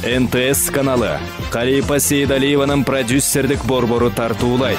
НТС каналы Калипа Сейдалиеванын продюсердик борбору тартуулайт.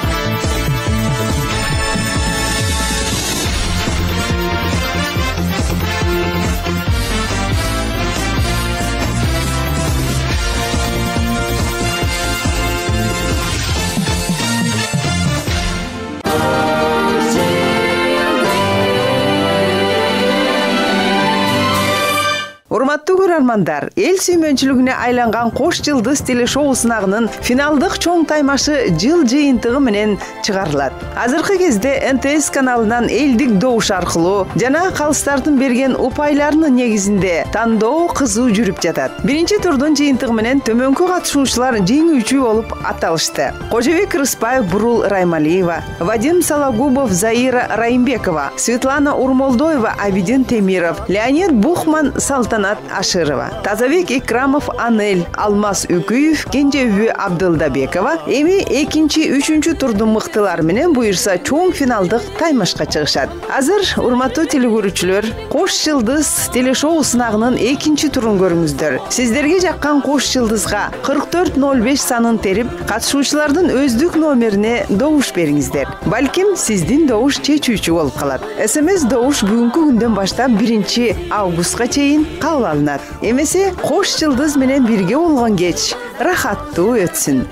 Урматтуу көрөрмандар, эл сүймөнчүлүгүнө айланган Кош жылдыз телешоу сынагынын финалдык чоң таймашы жыл жыйынтыгы менен чыгарылат. Азыркы кезде НТС каналынан элдик добуш аркылуу жана калыстардын берген упайларынын негизинде тандоо кызуу жүрүп жатат. Биринчи турдун жыйынтыгы менен төмөнкү катышуучулар жеңүүчү болуп аталышты. Кожобек Рыспаев, Бурул Раймалиева, Вадим Сологубов, Заира Райымбекова, Светлана Урмолдоева, Абидин Темиров, Леонид Бухман, Салтанат Ашырова, Тазабек Икрамов, Анель, Алмаз Үкүев, Кенжеби Абдылдабекова эми экинчи, үчүнчү турдун мыктылары менен буюрса чоң финалдык таймашка чыгышат. Азыр урматтуу телекөрүүчүлөр, Кош жылдыз телешоу сынагынын экинчи турун көрүңүздөр. Сиздерге жаккан Кош жылдызга 4405 санын терип, катышуучулардын өздүк номерине добуш бериңиздер. Балким сиздин добуш чечүүчү болуп калат. СМС добуш бүгүнкү күндөн баштап 1 августка чейин кабыл алынат. Эмесе Кош жылдыз менен бирге болгон кеч рахаттуу өтсүн.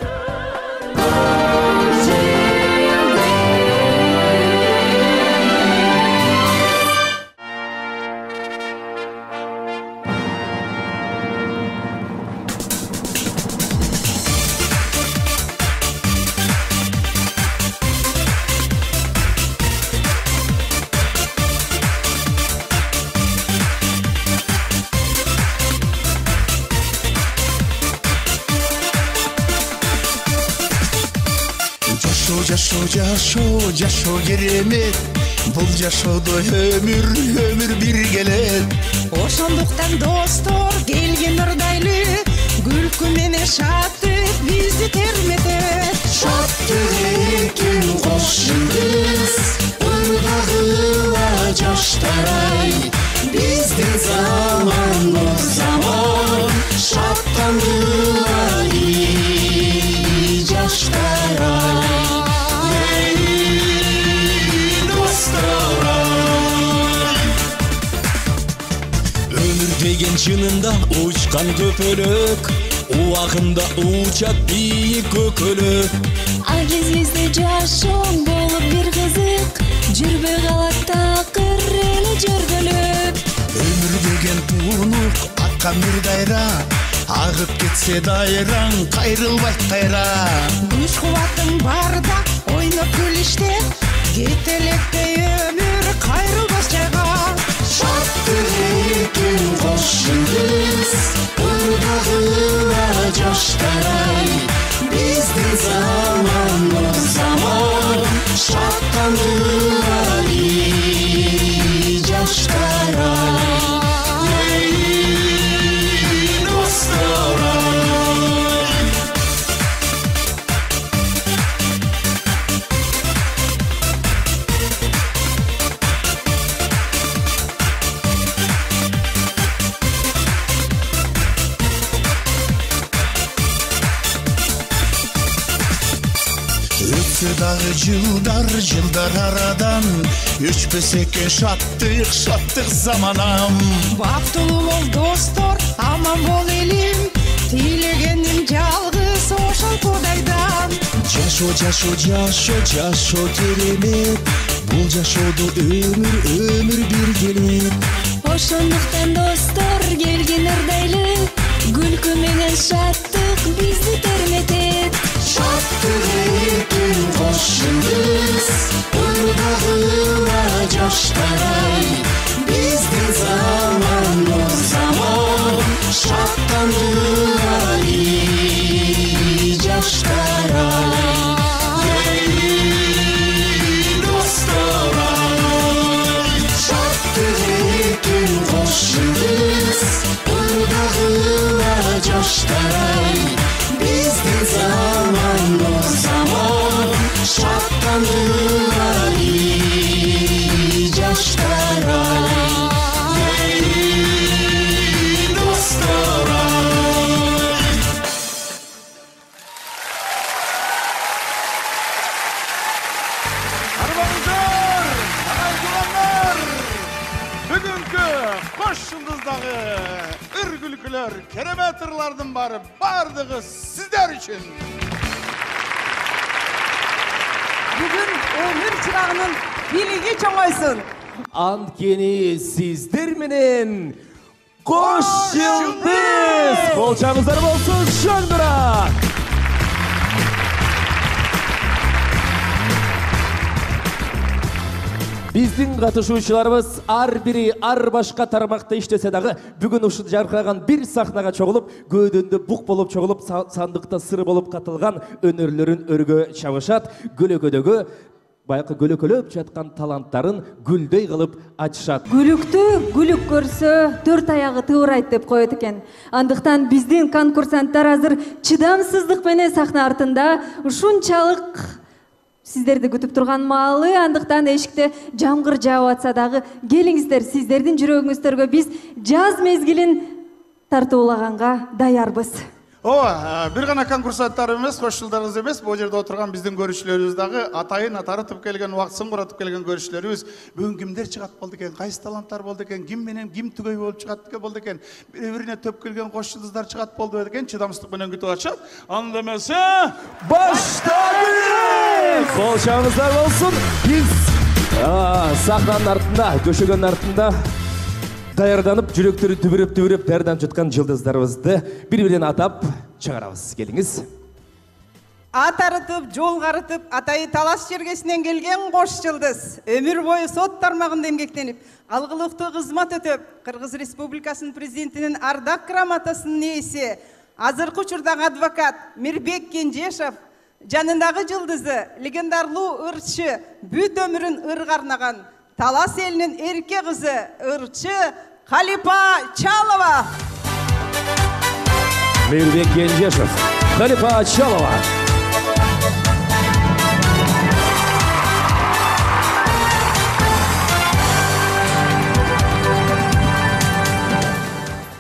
Жашоо керемет, бул жашоодо өмүр биргелет. Ошондуктан достор келген ырдайлы, күлкү менен шаттык бизди терметет. Шаттык экен Кош жылдыз, ырдагыла жаштар-ай, биздин заман, шаттангыла жаштар-ай. Деген чынында учкан көпөлөк, убагында учат бийик көкөлөк. А кезибизде жашооң болуп бир кызык, жүрбөй калат такыр эле жөргөлөк. Өмүр деген туунук, аккан бир дайра, агып кетсе дайраң кайрылбайт кайра. Күч кубатың барда ойноп күлүштеп, кете элекпей өмүр кайрылбас жайга. Шаттык экен Кош жылдыз, ырдагыла жаштар-ай, биздин заман, шаттангыла жаштар-ай. Дагы жылдар арадан, өчпөс экен шаттык заманам. Бактылуу бол достор, аман бол элим, тилегеним жалгыз ошол Кудайдан. Жашоо керемет, бул жашоодо өмүр биргелет. Ошондуктан достор келген ырдайлы, күлкү менен шаттык бизди терметет. Шаттык экен Кош жылдыз, ырдагыла жаштар-ай, биздин заман, шаттангыла жаштар-ай. Шаттык экен Кош жылдыз, ырдагыла жаштар-ай, биздин заман, шаттангыла жаштар-ай. өлкүлөр, керемет ырлардын бардыгы сиздер үчүн. Бүгүн өмүр чырагынын бийлиги чоңойсун. Анткени сиздер менен кош жылдыз. Болчаңыздар болсун шоңдура. Биздин катышуучуларыбыз ар бири ар башка тармакта иштесе дагы бүгүн ушул жаркыраган бир сахнага чогулуп, көөдөндө бук болуп чогулуп, сандыкта сыр болуп катылган өнөрлөрүн өргө чабышат. Көлөкөдөгү байкы көлөкөлөп жаткан таланттарын гүлдөй кылып ачышат. Гүлүктү гүлүк көрсө 4 аягы тыбырайт деп коет экен. Андыктан биздин конкурсанттар азыр чыдамсыздык менен сахна артында ушунчалык сиздерди күтүп турган маалы. Андыктан эшикте жамгыр жаап атса дагы келиңиздер, сиздердин жүрөгүңүздөргө биз жаз мезгилин тартуулаганга даярбыз. Бир гана конкурсанттар эмес, кош жылдарыбыз эмес, бул жерде отурган биздин көрүүчүлөрүбүз дагы атайын атарытып келген, убактысын куратып келген көрүүчүлөрүбүз. Бүгүн кимдер чыгат болду экен, кайсы таланттар болду экен, ким менен ким түгөй болуп чыгат болду экен, бири-бирине төп келген кош жылдыздар чыгат болду экен, чыдамсыздык менен күтүп атышат. Анда эмесе, баштадык! Болчаңыздар болсун. Биз сахнанын артында, көшөгөнүн артында даярданып, жүрөктөрү түбүрөп даярданып жаткан жылдыздарыбызды бири-биринен атап чыгарабыз. Келиңиз. Ат арытып, жол карытып, атайы талаш жергесинен келген кош жылдыз. Өмүр бою сот тармагында эмгектенип, алгылыктуу кызмат өтөп, Кыргыз Республикасынын президентинин ардак грамотасынын ээси, азыркы учурдагы адвокат Мирбек Кенжешов жанындагы жылдызы, легендарлуу ырчы, бүт өмүрүн ырга арнаган Талас элинин эрке кызы, ырчы Калипа Чалова. Мирбек Кенжешов, Калипа Чалова.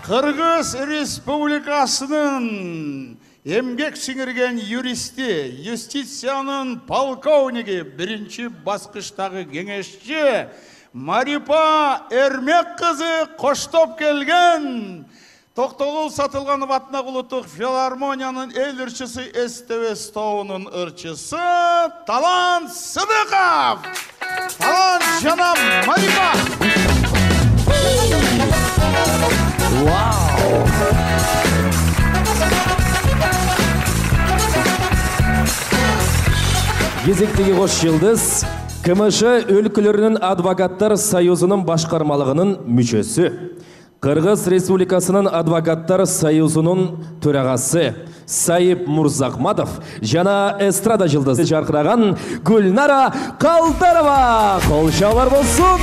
Кыргыз Республикасынын эмгек сиңирген юристи, юстициянын полковниги, биринчи баскычтагы кеңешчи Марипа Эрмек кызы коштоп келген. Токтогул Сатылганов атындагы улуттук филармониянын эл ырчысы СТВ тобунун ырчысы Талант Сыдыков. Талант жана Марипа. Вау! Кезектеги кош жылдыз КМШ өлкөлөрүнүн адвокаттар союзунун башкармалыгынын мүчөсү, Кыргыз Республикасынын адвокаттар союзунун төрагасы Сайып Мурзахматов жана эстрада жылдызы жаркыраган Гүлнара Калдарова. Кол чабуулар болсун.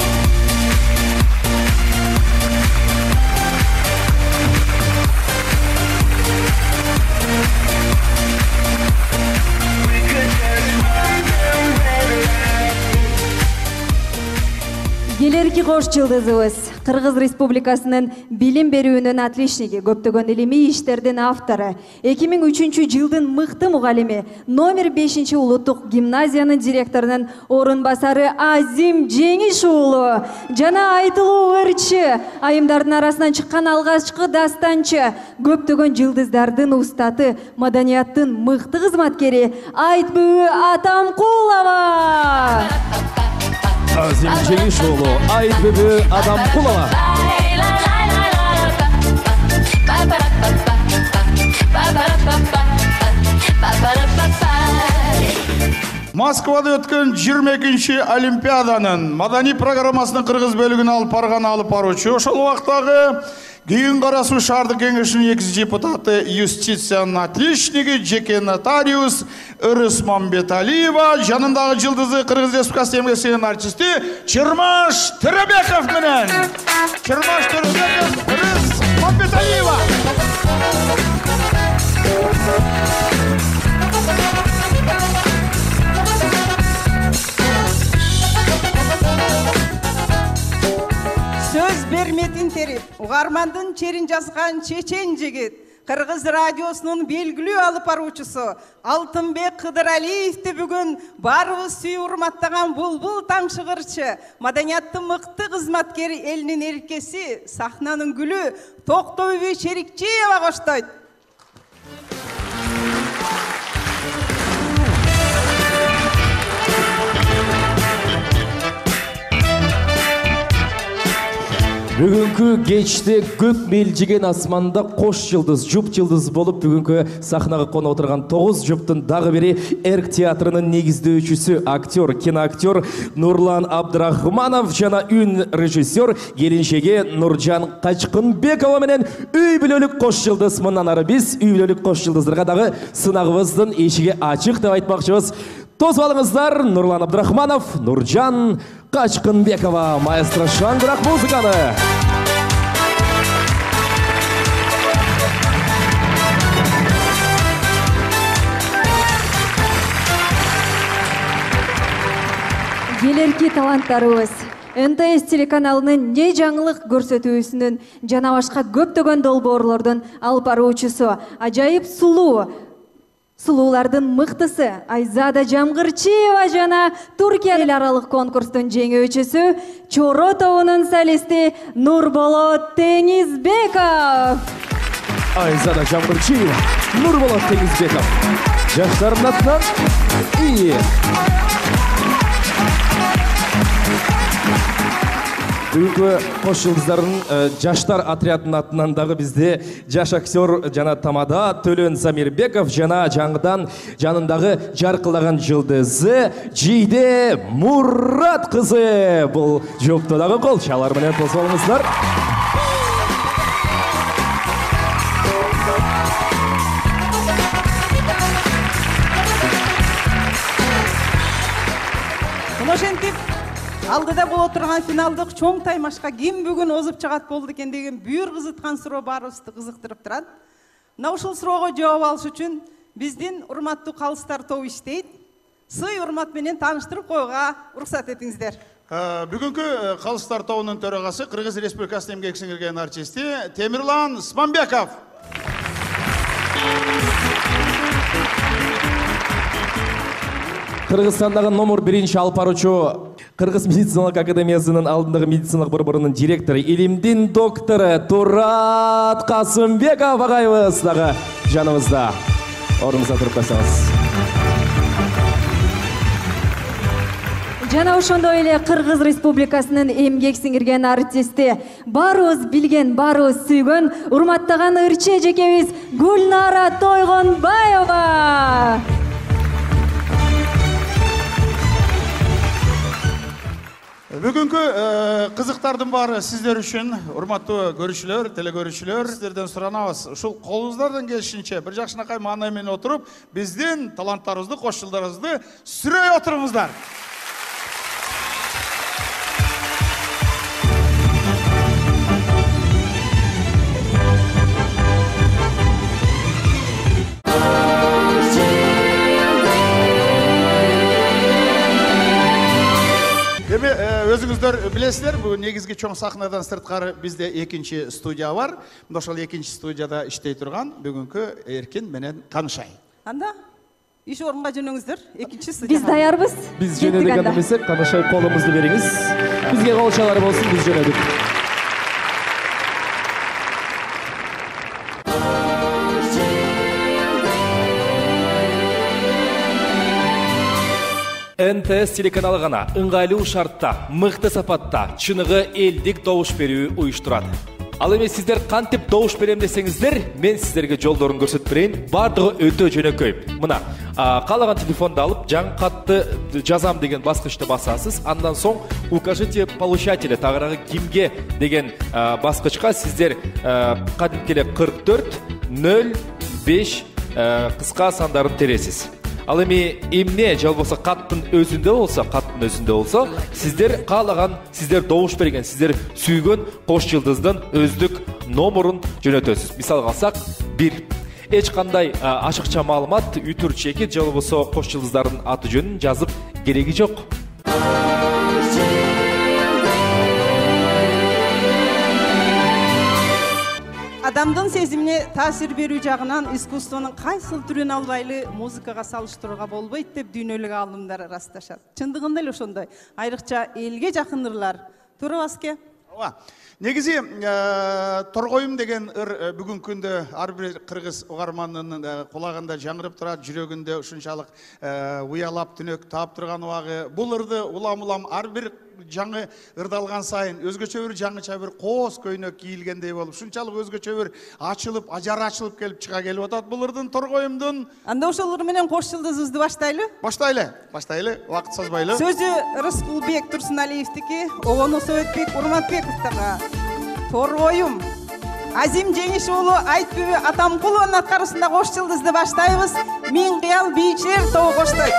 Келерки кош жылдызыбыз Кыргыз Республикасынын билим берүүнүн отличниги, көптөгөн илимий иштердин автору, 2003 жылдын мыкты мугалими, номер 5 улуттук гимназиянын директорунун орун басары Азим Жеңиш уулу жана айтылуу ырчы, айымдардын арасынан чыккан алгачкы дастанчы, көптөгөн жылдыздардын устаты, маданияттын мыкты кызматкери Айтбүбү Атамкулова. Азим Жеңиш уулу Айтбүбү Атамкулова. Москвада өткөн 22-ші Олимпиаданын маданий программасынын кыргыз бөлүгүн алып баруучу, ошол убактагы Күйүн Карасуу шаардык кеңешинин 2 депутаты, юстициянын отличниги, жеке нотариус Ырыс Мамбеталиева, жанындагы жылдызы Кыргыз Республикасы эмгек сиңирген артисти Чырмаш Төрөбеков менен. Чырмаш Төрөбеков, Ырыс Мамбеталиева. Сөз берметин терип, угармандын черин жазган чечен жигит, Кыргыз радиосунун белгилүү алып баруучусу Алтынбек Кыдыралиевди бүгүн баарыбыз сүйүп урматтаган булбул тамшыгырчы, маданияттын мыкты кызматкери, элинин эркеси, сахнанын гүлү Токтойбүй Черикчиева коштойт. Бүгүнкү кечте көк мелжиген асманда кош жылдыз, жуп жылдыз болуп бүгүнкү сахнага коно отурган 9 жуптун дагы бири Эрк театрынын негиздөөчүсү, актер, киноактер Нурлан Абдрахманов жана үн режиссер келинчеги Нуржан Качкынбекова менен үй бүлөлүк кош жылдыз. Мындан ары биз үй бүлөлүк кош жылдыздарга дагы сынагыбыздын эшиги ачык деп айтмакчыбыз. Тосуп алыңыздар, Нурлан Абдрахманов, Нуржан Качкынбекова. Маэстро шаңдырак музыканы. Келерки таланттарыбыз НТС телеканалынын не жаңылык көрсөтүүсүнүн жана башка көптөгөн долбоорлордун алып баруучусу, ажайып сулуулардын мыктысы Айзада Жамгырчиева жана Туркия эл аралык конкурстун жеңүүчүсү, Чоро тобунун солисти Нурболот Теңизбеков. Айзада Жамгырчиева, Нурболот Теңизбеков. Жаштардын атынан Бүгүнкү кош жылдыздардын жаштар отрядынын атынан дагы бизде жаш актер жана тамада Төлөн Замирбеков жана жаңыдан жанындагы жаркылаган жылдызы Жийде Мурат кызы. Бул жопто дагы кол чалар менен тосуп алыңыздар. Ошентип алдыда болуп турган финалдык чоң таймашка ким бүгүн озуп чыгат болду экен деген бүйүр кызыткан суроо баарыбызды кызыктырып турат. Мына ушул суроого жооп алыш үчүн биздин урматтуу калыстар тобу иштейт. Сый урмат менен тааныштырып коюуга уруксат этиңиздер. Бүгүнкү калыстар тобунун төрагасы Кыргыз Республикасынын эмгек сиңирген артисти Темирлан Смамбеков. Кыргызстандагы номер 1 алып баруучу Кыргыз медициналык академиясынын алдындагы медициналык борборунун директору, илимдин доктору Турат Касымбеков агайыбыз дагы жаныбызда. Ордуңузга туруп койсоңуз. Жана ошондой эле Кыргыз Республикасынын эмгек сиңирген артисти, баарыбыз билген, баарыбыз сүйгөн, урматтаган ырчы эжекебиз Гүлнара Тойгонбаева. Бүгүнкү кызыктардын баары сиздер үчүн, урматтуу көрүүчүлөр, телекөрүүчүлөр, сиздерден суранабыз. Ушул колуңуздардан келишинче бир жакшынакай маанай менен отуруп, биздин таланттарыбызды, кош жылдарыбызды сүрөй отуруңуздар. Өзүңүздөр билесиздер, бул негизги чоң сахнадан сырткары бизде экинчи студия бар. Мында ошол экинчи студияда иштей турган бүгүнкү Эркин менен таанышайын. Анда иш орунга жөнөңүздөр. Экинчи студия. Биз даярбыз. Биз жөнөдүк анда эмесе, таанышайып колумузду бериңиз. Бизге кол чалар болсун, биз жөнөдүк. НТС телеканалы гана ыңгайлуу шартта, мыкты сапатта, чыныгы элдик добуш берүү уюштурат. Ал эми сиздер кантип добуш берем десеңиздер, мен сиздерге жолдорун көрсөтүп берейин. Бардыгы өтө жөнөкөй. Мына, каалаган телефонду алып, жаңы катты жазам деген баскычты басасыз. Андан соң укажите получателя, тагыраагы кимге деген баскычка сиздер кадимки эле 44 05 кыска сандарын тересиз. Ал эми эмне же болбосо каттын өзүндө болсо, сиздер каалаган, сиздер добуш берген, сиздер сүйгөн кош жылдыздын өздүк номерун жөнөтөсүз. Мисалга алсак, 1. Эч кандай ашыкча маалымат, үтүр чеки же болбосо кош жылдыздардын аты жөнүн жазып кереги жок. адамдын сезимине таасир берүү жагынан искусствонун кайсыл түрүн албайлы музыкага салыштырууга болбойт деп дүйнөлүк аалымдар ырасташат. Чындыгында эле ошондой. Айрыкча элге жакын ырлар. Туура баске? Ооба. Негизи торгоюм деген ыр бүгүнкү күндө ар бир кыргыз угарманынын кулагында жаңырып турат, жүрөгүндө ушунчалык уялап түнөк таап турган убагы. Бул ырды улам ар бир жаңы ырдалган сайын өзгөчө бир жаңыча бир коос көйнөк кийилгендей болуп, ушунчалык өзгөчө бир ачылып, ажары ачылып келип чыга келип атат бул ырдын, торгоюмдун. Анда ошол ыр менен кош жылдызыбызды баштайлы? Баштайлы, убакыт созбойлу. Сөзү Рыскулбек Турсуналиевдики, Обону Советбек Урматбековдорго. Торгоюм. Азим Жеңиш уулу Айтбүбү Атамкулованын аткаруусунда кош жылдызды баштайбыз. Миң кыял бийчилер тобу коштойт.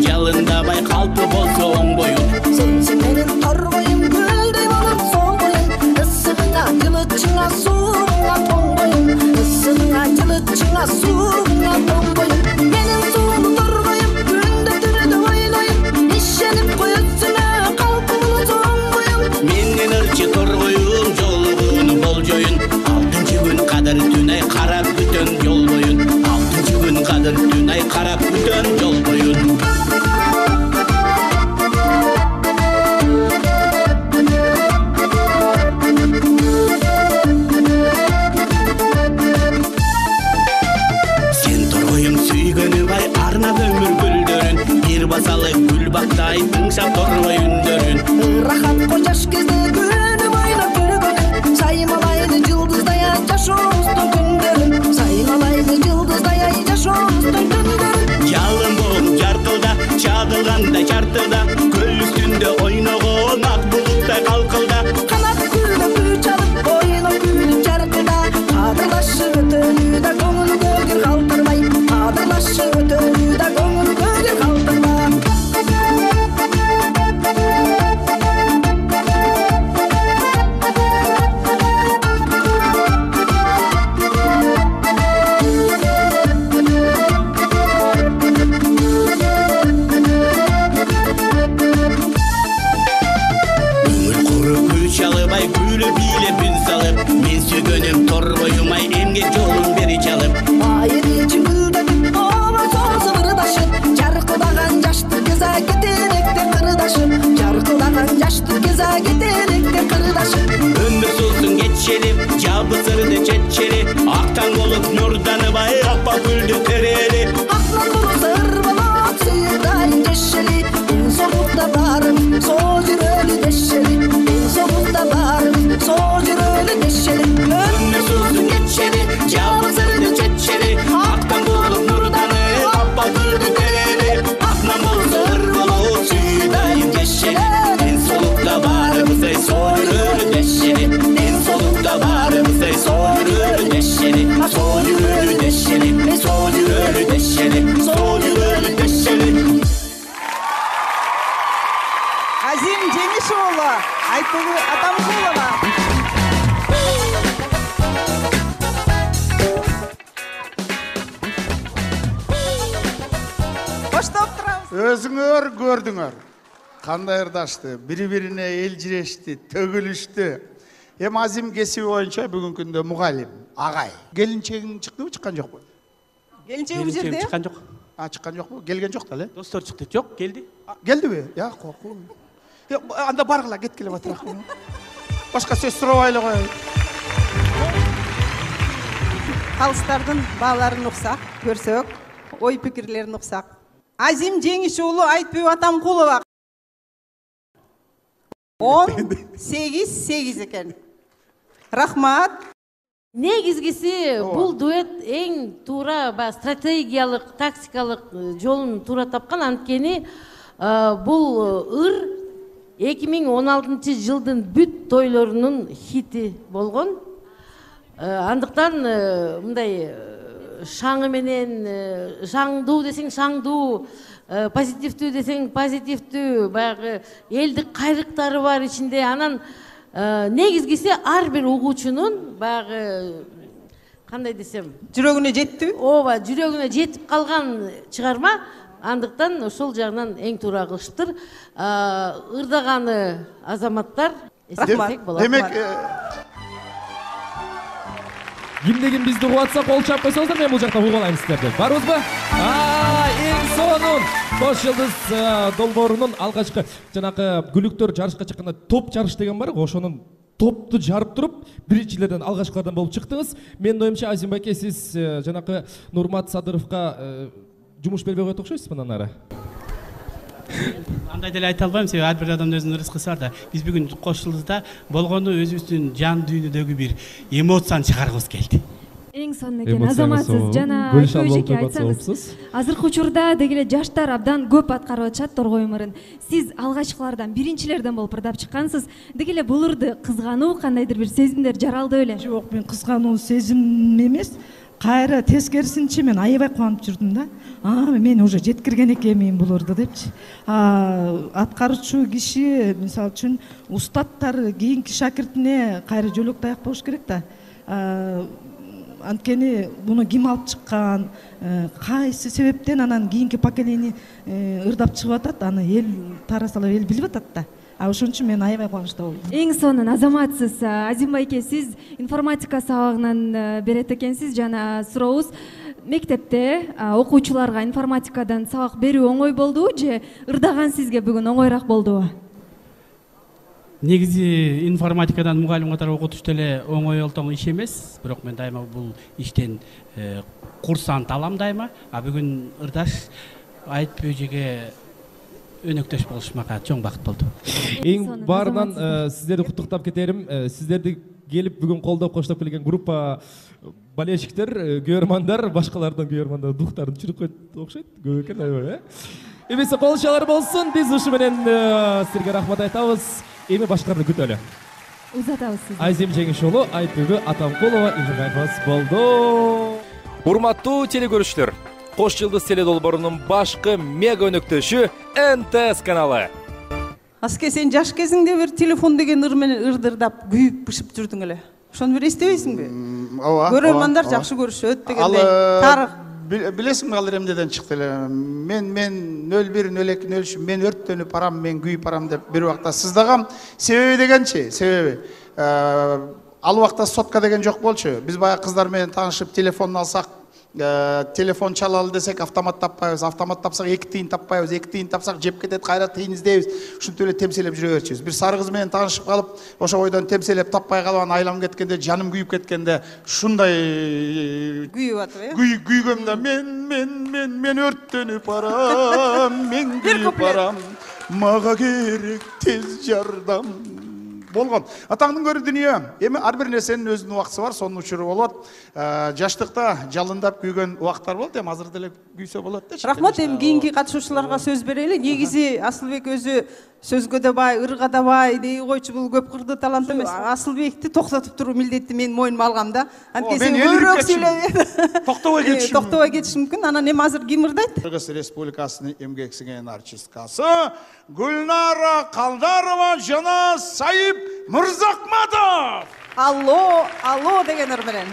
Жалындабай калпы болсо оң боюн. Сенсиң менен торгоюм гүлдөй болуп соң боюн. Ысыгыңа жылытчыңа сууңа тоң боюн. Ысыгыңа жылытчыңа сууңа тоң боюн. Менин сууну торгоюм күндө түнү ойлойм. Ишенип коесуңа калпыңы соң боюн. Менин ырчы торгоюм жолугууну болжоюн. Алтынчы күн кадыр түн ай карап күтөн жол боюн. Алтынчы күн кадыр түн ай карап күтөн жол боюн. Басалы гүл бактай тыңшап торгой үндөрүн. Рахат кожаш кезде күнү бойна күлгөнүн. Саймалайды жылдыздай жашообуздун күндөрүн. Саймалайды жылдыздай жашообуздун күндөрүн. Жалын болуп жаркылда, чагылганда чартылда, көл үстүндө ойногон ак булуттай калкылда. Канат күлүп күй чалып, ойно күлүп жаркылда. Кадырлашып өтөлүү да көңүл көгүр калтырбай. Кадырлашып өтөлүү да көңүл көгүр калтырбай. Çalыбай күлү бийлеп үн салып, мен сүйгөнүм торгоюмай эмгек жолун бери чалып. Айыр ичин гүлдөп, оба созуп ырдашып, жаркылдаган жаштык кеза кетенекте кырдашып, жаркылдаган жаштык кеза кетенекте кырдашып. Өмүр сулсун кетчелип, жабысырды четчели, актан болуп нурданыбай апа гүлдү терели. Актан болуп ыр болуп сүйдайын жешели, соңукта барым, соо жүрөлү дешели. Soğukta varım, soğuk yürüyle neşeli. Ömür suzun geçeli, cevazırdı çetçeli. Aktan bulup nurdanı, appa gülü dereli. Aknan bozur bulup süydayım geçeli. En solukta varım, say soğuk yürüyle neşeli. En solukta varım, say soğuk yürüyle neşeli. Soğuk yürüyle neşeli, soğuk yürüyle neşeli. Soğuk yürüyle neşeli. Azim Жеңиш уулу Айтбүбү Атамкулова. Коштоп турабыз. Өзүңөр көрдүңөр. Кандай ырдашты, бири-бирине элжирешти, төгүлүштү. Эми Азим кесиби боюнча бүгүнкү күндө мугалим, агай. Келинчегиң чыктыбы, чыккан жокпу? Келинчеги бул жерде? Чыккан жок. Чыккан жокпу? Келген жок да эле? Достор чыкты. Жок, келди. Келдиби? Я, коркуу. Анда баргыла, кеткиле батыраак. Башка сөз сурабайлы коелу. Калыстардын бааларын уксак, көрсөк, ой пикирлерин уксак. Азим Жеңиш уулу Айтбүбү Атамкулова. 18 экен. Рахмат. Негизгиси бул дуэт эң туура стратегиялык, тактикалык жолун туура тапкан. Анткени бул ыр 2016 жылдын бүт тойлорунун хити болгон. Андыктан мындай шаңы менен шаңдуу десең шаңдуу, позитивдүү десең позитивдүү, баягы элдик кайрыктары бар ичинде. Анан негизгиси ар бир угуучунун баягы кандай десем, жүрөгүнө жеттиби? Ооба, жүрөгүнө жетип калган чыгарма. Андыктан ошол жагынан эң туура кылышыптыр. Ырдаганы азаматтар эсептесек болот. Демек, Кимдегин бизди угатса кол чап койсоңуздар, мен бул жакта угуп алайм сиздерди. Барбызбы? Эң сонун Кош жылдыз долбоорунун алгачкы жанагы күлүктөр жарышка чыкканда топ жарыш деген бар, ошонун топту жарып туруп, биринчилерден алгачкылардан болуп чыктыңыз. Менин оюмча, Азим байке, сиз жанагы Нурмат Садыровго жумуш бербей коет окшойсуз мындан ары. Андай деле айта албайм, себеби ар бир адамдын өзүнүн рызкысы бар да. Биз бүгүн Кош жылдызда болгону өзүбүздүн жан дүйнөдөгү бир эмоцияны чыгаргыбыз келди. Эң сонун экен, азаматсыз жана көйжеке айтсаңыз. Азыркы учурда дегеле жаштар абдан көп аткарып атышат торгой өмүрүн. Сиз алгачкылардан, биринчилерден болуп ырдап чыккансыз. Дегеле бул ырды кызгануу, кандайдыр бир сезимдер жаралды беле? Жок, мен кызгануу сезим эмес. Кайра тескерисинче мен аябай кубанып жүрдүм да. Мен уже жеткирген экенмин бул ырды депчи. Аткаруучу киши, мисалы үчүн, устаттар кийинки шакиртине кайра жөлөк таяк болуш керек да. Анткени буну ким алып чыккан, кайсы себептен анан кийинки поколение ырдап чыгып атат, аны эл тарасалап эл билип атат да. Ошон үчүн мен аябай кубанычта болдум. Эң сонун азаматсыз. Азим байке, сиз информатика сабагынан берет экенсиз. Жана сурообуз, мектепте окуучуларга информатикадан сабак берүү оңой болдубу же ырдаган сизге бүгүн оңойраак болдубу? Негизи информатикадан мугалим катары окутуш деле оңой олтоң иш эмес, бирок мен дайыма бул иштен курсант алам дайыма. Бүгүн ырдаш айтпөө жеге өнөктөш болуш мага чоң бакыт болду. Эң баарынан сиздерди куттуктап кетерим. Сиздерди келип бүгүн колдоп коштоп келген группа болельщиктер, көрөрмандар, башкалардын көрөрмандар духтарын чүрүп койт окшойт. Көп экен аябай, Эмесе колчалар болсун. Биз ушу менен силерге рахмат айтабыз. Эми башкарды күтөлү. Узатабыз сизди. Азим Жеңишоолу, Айтбүбү Атамкулова инженерибиз болду. Урматтуу телекөрүүчүлөр, Кош жылдыз теле долбоорунун башкы мега өнөктөшү НТС каналы. Аске, сен жаш кезиңде бир телефон деген ыр менен ырдырдап күйүп бышып жүрдүң эле. Ошону бир эстебейсиңби? Ооба. Көрөрмандар жакшы көрүшөт дегендей. Тарых билесиңби ал эмнеден чыкты эле? Мен 01, 02, 03 мен өрттөнүп барам, мен күйүп барам деп бир убакта сыздагам. Себеби дегенчи, себеби ал убакта сотка деген жок болчу. Биз баягы кыздар менен таанышып телефон алсак, телефон чалалы десек автомат таппайбыз, автомат тапсак 2 тыйын таппайбыз, 2 тыйын тапсак жеп кетет, кайра тыйын издейбиз. Ушинтип эле темселеп жүрө берчүбүз. Бир сары кыз менен таанышып калып, ошо бойдон темселеп таппай калып, анан айланып кеткенде, жаным күйүп кеткенде, ушундай күйүп атып, күйгөм да, мен өрттөнүп барам, мен күйүп барам, мага керек тез жардам болгон. Атаңдын көрү дүнүйө. Эми ар бир нерсенин өзүнүн убактысы бар, сонун учуру болот. Жаштыкта жалындап күйгөн убактар болот, эми азыр деле күйсө болот дечи. Рахмат, эми кийинки катышуучуларга сөз берели. Негизи Асылбек өзү сөзгө да бай, ырга да бай дей койчу, бул көп кырды талант эмес. Асылбекти токтотуп туруу милдетти мен мойнума алгам да. Анткени сен көбүрөөк сүйлөп токтобой кетиш мүмкүн. Анан эми азыр ким ырдайт? Кыргыз Республикасынын эмгек сиңген артисткасы Гүлнара Калдарова жана Сайып Мырзакматов. Алло, алло деген ыр менен.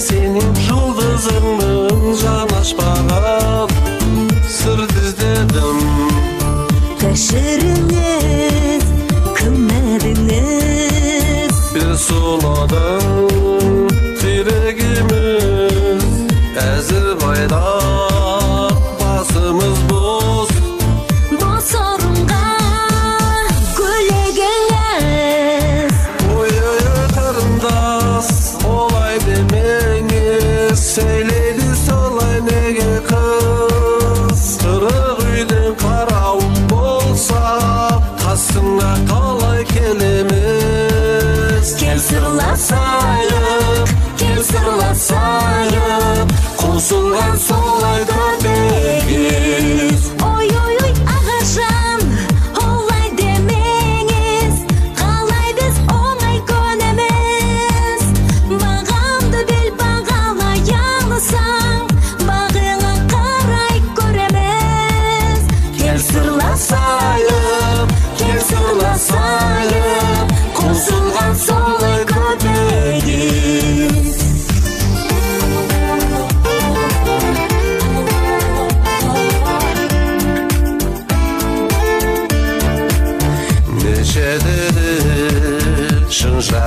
Senin жұлдызыңның жанашпаған сыр іздедім. Кешіріңіз, күмәдіңіз, бір сұладың тирегіміз, әзір байдақ басымыз бос. Бос орынға көлегіңіз, ой-ой қарындас, олай деме. Söyledi solay nege kız, Kırık üyden karavun bolsa,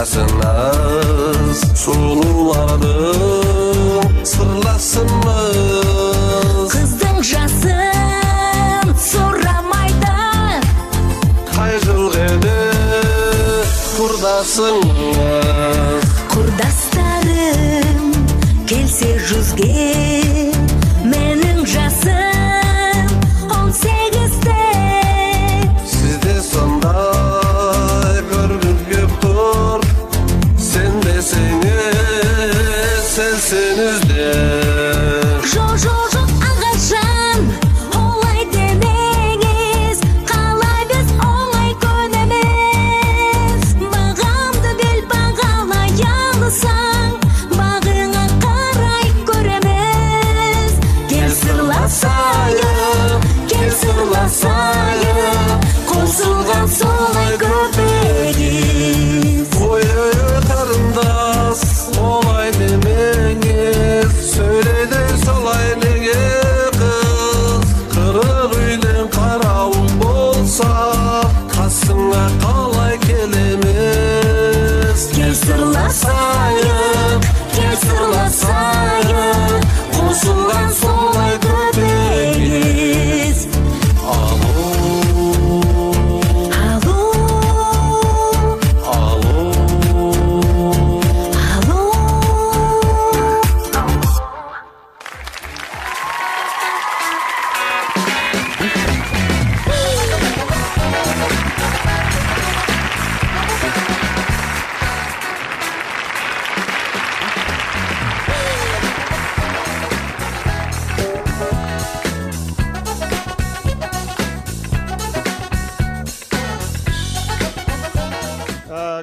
жашыныз сулуулардын сырласымыз Кыздың жасын сурамайды кай жыл эле курдасыңыз Курдастарым келсе жүзге Менің жасым 18-те Сизде сондай көргүм көп тур Сенбесеңиз сенсеңизде Жоқ ағашан олай демеңіз Қалай біз оңай көнеміз Бағамды бел бағалай алысаң Бағыңа қарай көреміз Кел сырласайық Қосылған солай көпегіз Ой қарындас олай демеңіз Сөйлейді солай неге қыз Қырық үйден қарауыл болса Қасыңа қалай келеміз Кел сырласайық Қосылған солай көпегіз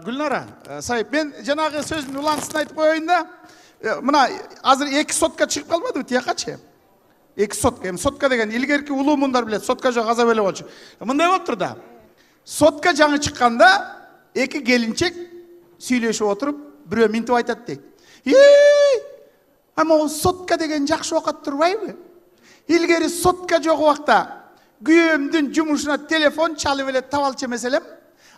Гүлнара, сайып, мен жанагы сөзүн улантысын айтып коеюн да. Мына азыр 2 сотка чыгып калбадыбы тиякачы? 2 сотка. Эми сотка деген илгерки улуу мундар билет, сотка жок аза эле болчу. Мындай болуптур да. Сотка жаңы чыкканда 2 келинчек сүйлөшүп отуруп, бирөө минтип айтат дейт. Ама сотка деген жакшы окат турбайбы? Илгери сотка жок убакта күйөөмдүн жумушуна телефон чалып эле табалчы эмеселем.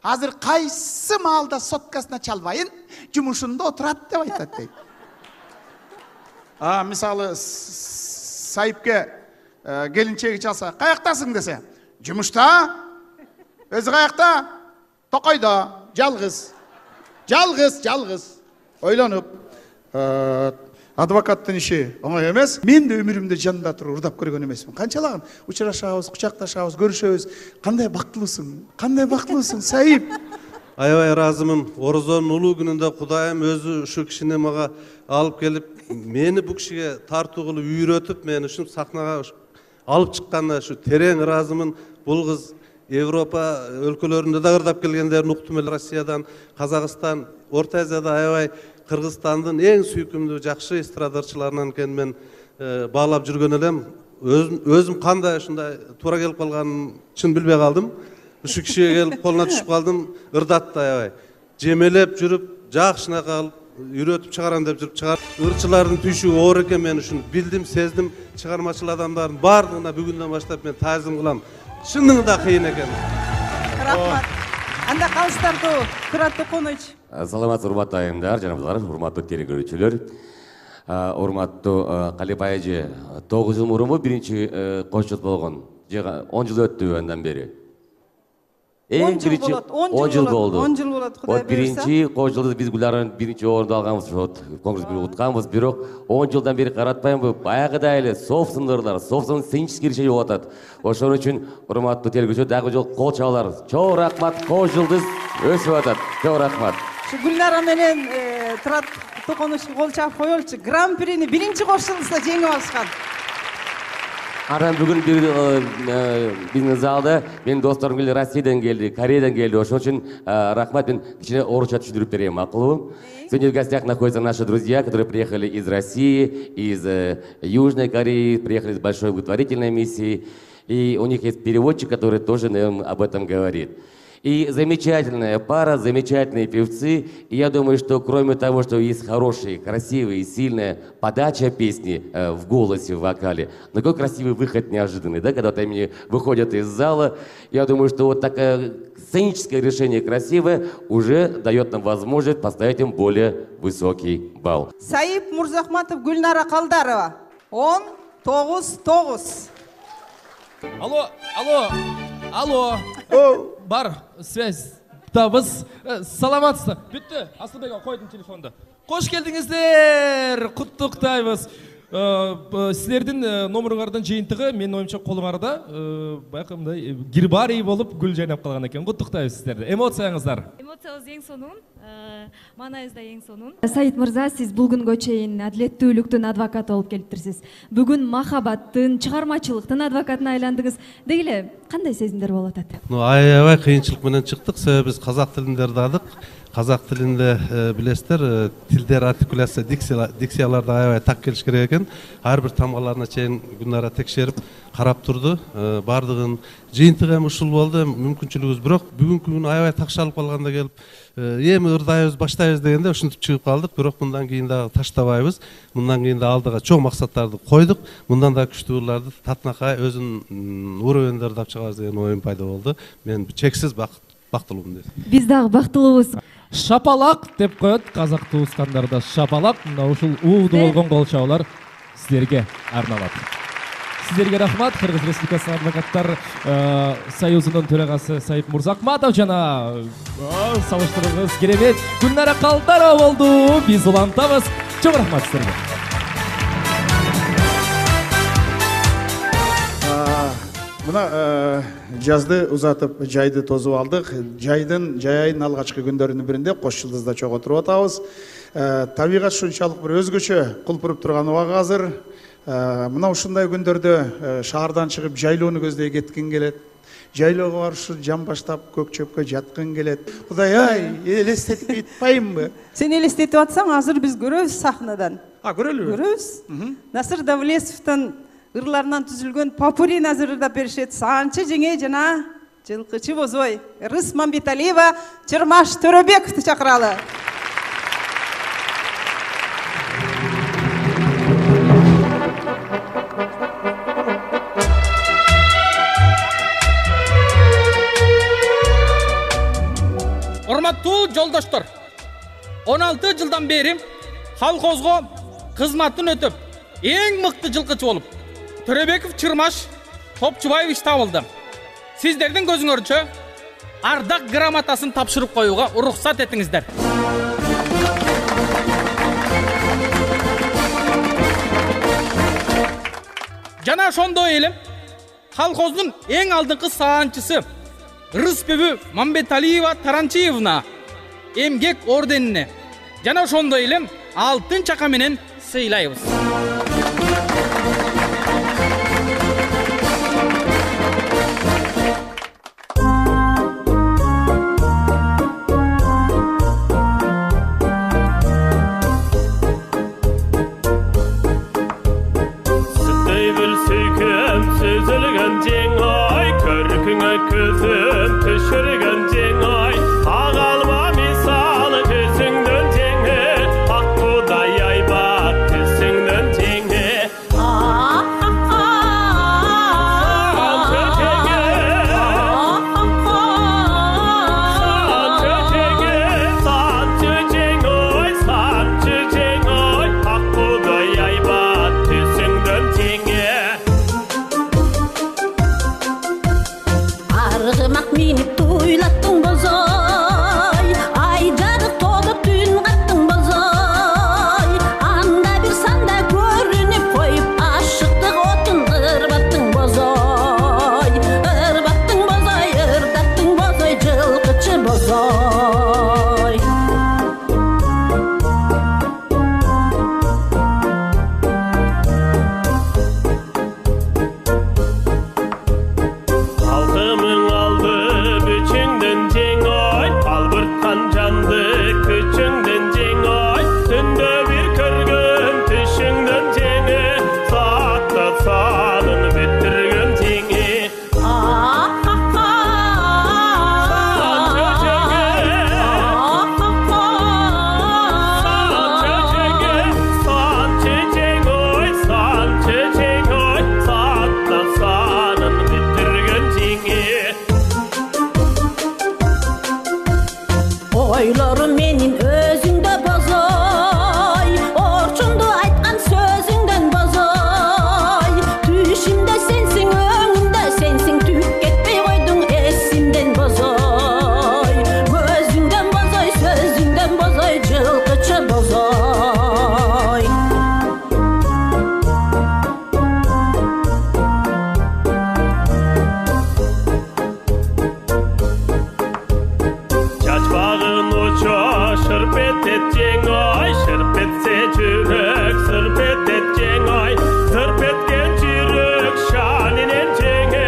Азыр кайсы маалда соткасына чалбайын, жумушунда отурат деп айтат дейт. Мисалы сайыпке келинчеги чалса, каяктасың десе, жумушта. Өзү каякта? Токойдо, жалгыз. Ойлонуп, адвокаттын иши оңой эмес. Мен да өмүрүмдө жанында туруп урдап көргөн эмесмин. Канчалаган учурашабыз, кучакташабыз, көрүшөбүз. Кандай бактылуусуң, Сайып. Аябай ыраазымын. Орозонун улуу күнүндө Кудайым өзү ушу кишини мага алып келип, мени бу кишиге тартуу кылып үйрөтүп, мени ушул сахнага алып чыкканына ушу терең ыраазымын. Бул кыз Европа өлкөлөрүндө да ырдап келгендерин уктум эле. Россиядан, Казакстан, Орто Азияда аябай Кыргызстандын эң сүйкүмдүү жакшы эстрадарчыларынан экенин мен баалап жүргөн элем. Өзүм кандай ушундай туура келип калганын чын билбей калдым. Ушу кишиге келип колуна түшүп калдым, ырдатты аябай. Жемелеп жүрүп, жакшына калып, үйрөтүп чыгарам деп жүрүп чыгар. Ырчылардын түйшүгү оор экен, мен ушуну билдим, сездим. Чыгармачыл адамдардын баардыгына бүгүндөн баштап мен таазим кылам. Чынында кыйын экен. Рахмат. Анда калыстарды Кырат Токонович. Саламатсыздар, урматтуу айымдар, жаныбыздар, урматтуу телекөрүүчүлөр. Урматтуу Калипай эже, 9 жыл мурун биринчи кош жыл болгон. 10 жыл өттү андан бери. 10 жыл болот. 10 жыл болот, Кудай буйрса. Биринчи кош жылды биз Гүлнараны биринчи орунду алганбыз, конкурс бир утканбыз, бирок 10 жылдан бери каратпаймынбы, баягыдай эле собственныйлар, собственный сценический решение болуп атат. Ошон үчүн урматтуу телекөрүүчүлөр дагы жол кол чабалар. Чоң рахмат, кош жылдыз өсүп атат. Чоң рахмат. Гүлнара менен Кырат Токоновичке кол чабып коелучу. Гран-прини биринчи кош жылда жеңип алышкан. Анан бүгүн биздин залда менин досторум келди, Россиядан келди, Кореядан келди. Ошон үчүн рахмат, мен кичине орусча түшүндүрүп берейин, макулбу? Сегодня в гостях находятся наши друзья, которые приехали из России, из Южной Кореи, приехали с большой благотворительной миссией. И у них есть переводчик, который тоже нам об этом говорит. И замечательная пара, замечательные певцы. И я думаю, что кроме того, что есть хорошая, красивая и сильная подача песни в голосе, в вокале, но какой красивый выход неожиданный, да, когда вот они выходят из зала. Я думаю, что вот такое сценическое решение красивое уже дает нам возможность поставить им более высокий балл. Сайып Мурзахматов, Гүлнара Калдарова. 10-9. Алло. Бар связь табыз. Саламатсыздар. Бүттү. Асылбек койдум телефонду. Кош келдиңиздер. Куттуктайбыз. Силердин номеруңардан жыйынтыгы менин оюмча колуңарда баягы мындай гербарий болуп гүл жайнап калган экен. Куттуктайбыз силерди. Эмоцияңыздар? Эмоциябыз эң сонун, маанайыбыз да эң сонун. Саид мырза, сиз бул күнгө чейин адилеттүүлүктүн адвокаты болуп келиптирсиз. Бүгүн махабаттын, чыгармачылыктын адвокатына айландыңыз. Деги эле кандай сезимдер болуп атат? Аябай кыйынчылык менен чыктык, себеби биз казак тилинде ырдадык. Казак тилинде билесиздер, тилдер, артикуляция, дикцияларды аябай так келиш керек экен. Ар бир тамгаларына чейин Гүлнара текшерип карап турду. Бардыгын жыйынтыгы эми ушул болду. Мүмкүнчүлүгүбүз бирок бүгүнкү күнү аябай такшалып калганда келип, эми ырдайбыз, баштайбыз дегенде ушинтип чыгып калдык. Бирок мындан кийин дагы таштабайбыз. Мындан кийин да алдыга чоң максаттарды койдук. Мындан да күчтүү ырларды татынакай өзүнүн уровенде ырдап чыгарбыз деген оюм пайда болду. Мен чексиз бактылуумун дейт. Биз дагы бактылуубуз. Шапалак деп коет казак туускандарда. Шапалак, мына ушул ууду болгон кол чабуулар силерге арналат. Силерге рахмат. Кыргыз Республикасынын адвокаттар союзунун төрагасы Сайып Мурзахматов жана салыштырыңыз керемет Гүлнара Калдарова болду. Биз улантабыз. Чоң рахмат силерге. Мына жазды узатып, жайды тозуп алдык. Жайдын алгачкы күндөрүнүн биринде Кош Жылдызда чогуу туруп атабыз. Табигат ушунчалык бир өзгөчө кулпуруп турган убак азыр. Мына ушундай күндөрдө шаардан чыгып жайлоону көздөй кеткин келет. Жайлоого барышы жан баштап көк чөпкө жаткын келет. Кудай, элестетип айтпаймынбы? Сен элестетип атсаң, азыр биз көрөбүз сахнадан. Көрөлүбү? Көрөбүз. Насыр Давлесовдун ырларынан түзүлгөн попурин азыр ырдап беришет. Саанчы жеңе жана жылкычы бозой. Рыс Мамбеталиева, Чырмаш Төрөбековду чакыралы. Урматтуу жолдоштор, 16 жылдан бери колхозго кызматын өтүп, эң мыкты жылкычы болуп, Төрөбеков Чырмаш Топчубаевич табылды. Сиздердин көзүңөрчө ардак грамотасын тапшырып коюуга уруксат этиңиздер. Жана ошондой эле колхоздун эң алдыңкы саанчысы Рыспебү Мамбеталиева Таранчиевна эмгек орденине жана ошондой эле алтын чака менен сыйлайбыз. Ак Кудай айбат түсүңдөн тең жең ой, шырп етсе жүрек сырп еткен ой, сырп еткен жүрек шанинен жеңе,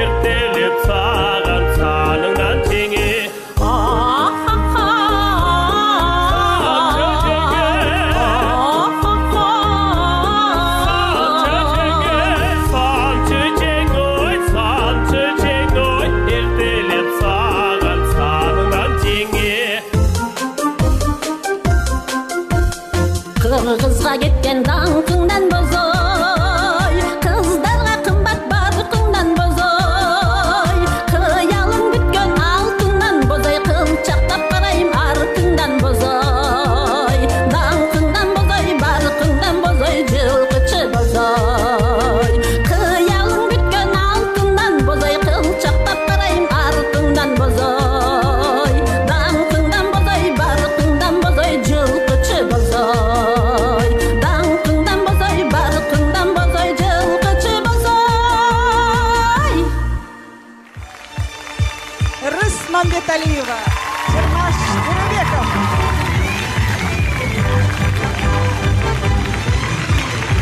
ертелеп саған саныңнан жеңе. Кыргызга кеткен даңкыңдан бозой, кыздарга кымбат баркыңдан бозой, кыялың бүткөн алтындан бозой, кылчактап карайм артыңдан бозой, даңкыңдан бозой, баркыңдан бозой, жылкычы бозой, кыялың бүткөн алтындан бозой, кылчактап карайм артыңдан бозой, даңкыңдан бозой, баркыңдан бозой, жылкычы бозой. Мамбеталиева, Чермаш Төрөбеков.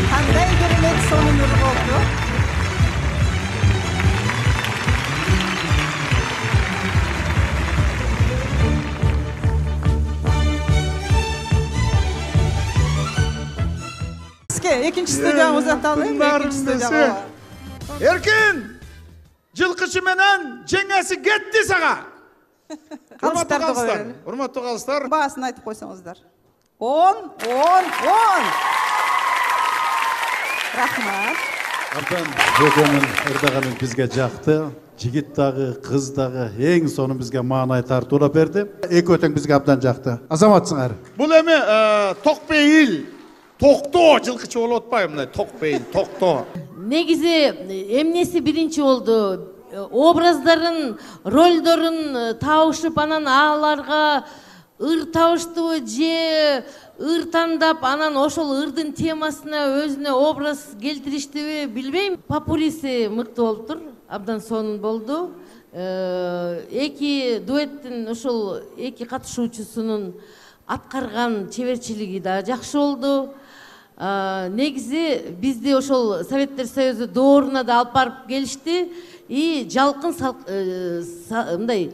Кандай керемет сонун ыр болду. Экинчи студияны узаталым, экинчи студияга. Эркин, жылкычы менен жеңеси кетти сага. Урматтуу калыстар. Баасын айтып койсоңуздар. 10. Рахмат. Абдан бүгүнүн ырдаганын бизге жакты. Жигит дагы, кыз дагы эң сонун бизге маанай тартуулап берди. Экөө тең бизге абдан жакты. Азаматсыңар. Бул эми токпейил, токтоо жылкычы болуп атпайбы мындай токпейил, токтоо. Негизи эмнеси биринчи болду? Образдарын, ролдорун табышып, анан аларга ыр табыштыбы же ыр тандап, анан ошол ырдын темасына өзүнө образ келтириштиби билбейм. Популиси мыкты болуптур, абдан сонун болду. Эки дуэттин ошол эки катышуучусунун аткарган чеберчилиги да жакшы болду. Негизи бизди ошол Советтер Союзу дооруна да алып барып келишти. И жалкын мындай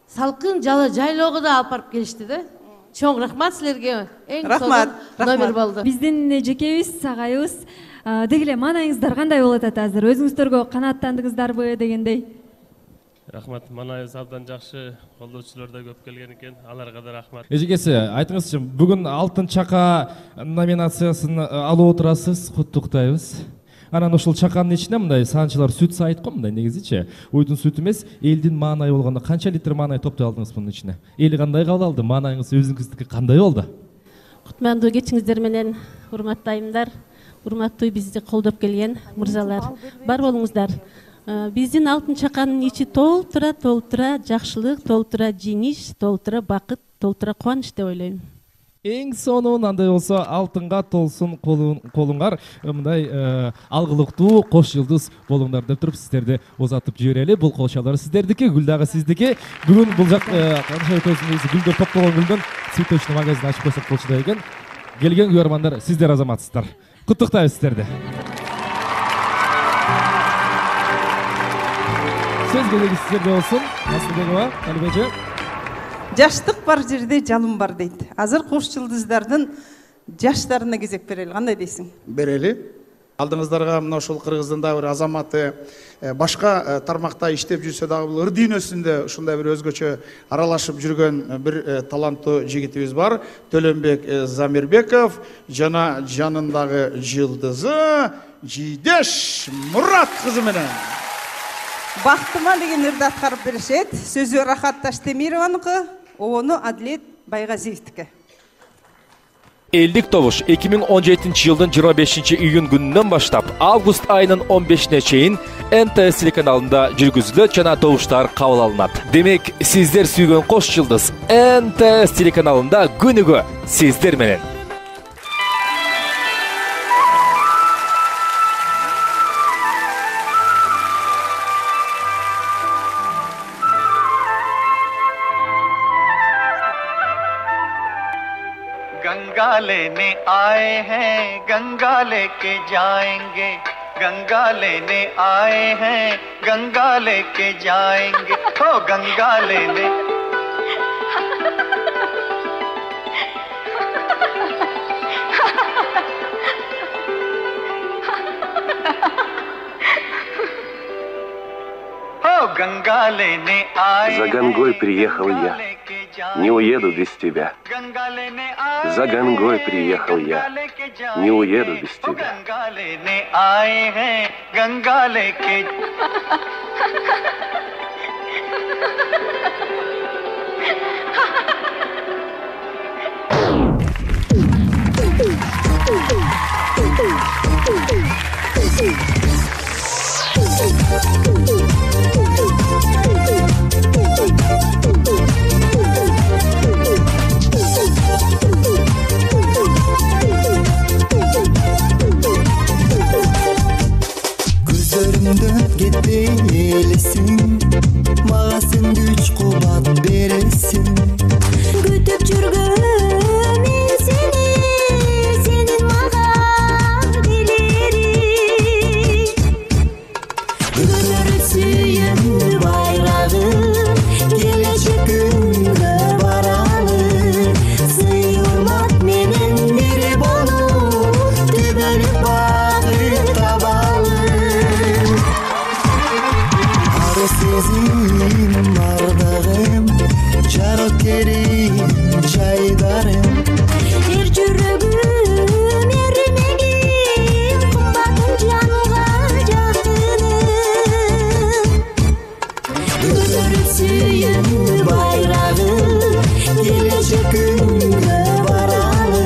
салкын жайлоого да алып барып келишти да. Чоң рахмат силерге. Эң сонун номер болду. Биздин жекебиз, агайыбыз, деги эле маанайыңыздар кандай болуп атат азыр? Өзүңүздөргө канааттандыңыздарбы дегендей? Рахмат, маанайыбыз абдан жакшы, колдоочулар да көп келген экен. Аларга да рахмат. Эжекеси, айтыңызчы, бүгүн алтын чака номинациясын алып отурасыз, куттуктайбыз. Анан ошол чаканын ичине мындай санчылар сүт сайыт го, мындай негизичи. Уйдун сүтү эмес, элдин маанайы болгондо канча литр маанай топтой алдыңыз мунун ичине? Эл кандай кабыл алды? Маанайыңыз өзүңүздүкү кандай болду? Кутмандуу кечиңиздер менен, урматтуу айымдар, урматтуу бизди колдоп келген мырзалар. Бар болуңуздар. Биздин алтын чаканын ичи толтура жакшылык, толтура жеңиш, толтура бакыт, толтура кубаныч деп ойлойм. Эң сонун андай болсо алтынга толсун колуңар, мындай алгылыктуу кош жылдыз болуңдар деп туруп сиздерди узатып жиберели. Бул колчалар сиздердики, гүл дагы сиздики. Бүгүн бул жак канча көзүңүз гүлдөр топтолгон гүлдөн цветочный магазин ачып койсок болчу экен. Келген күйөрмандар, сиздер азаматсыздар. Куттуктайбыз сиздерди. Сөз кезеги сиздерде болсун. Асылбекова, Алибежи. Жаштык бар жерде жалын бар дейт. Азыр кош жылдыздардын жаштарына кезек берели. Кандай дейсиң? Берели. Алдыңыздарга мына ошол Кыргыздын да бир азаматы башка тармакта иштеп жүрсө дагы бул ыр дүйнөсүндө ушундай бир өзгөчө аралашып жүргөн бир таланттуу жигитибиз бар. Төлөнбек Замирбеков жана жанындагы жылдызы Жидеш Мурат кызы менен Бактыма деген ырды аткарып беришет. Сөзү Рахат Таштемированыкы, ону Адлет Байгазиевдики. Элдик добуш 2017 жылдын 25 июнь күнүнөн баштап август айынын 15-не чейин НТС телеканалында жүргүзүлөт жана добуштар кабыл алынат. Демек, сиздер сүйгөн кош жылдыз НТС телеканалында күнүгө сиздер менен. गंगा लेने आए हैं गंगा लेके जाएंगे गंगा लेने आए हैं गंगा लेके जाएंगे हो गंगा लेने गंगा लेने आए За Гангой приехал я, не уеду без тебя. За Гангой приехал я, не уеду без тебя. गंगा लेने आए हैं गंगा लेके Gözlerimden gitmelisin Mağa sen güç kuvvet veresin Kütüp жүргөм мен сени сенин мага келерим Көтөрүп сүйем байрагым келечек күнгө баралы Сый урмат менен бири болуп түбөлүп багыт табалы Ары сезим ардагым жарык керим жайдарым Эр жүрөгүм эрмегим кымбатым жанга жакыным Көтөрүп сүйем байрагым келечек күнгө баралы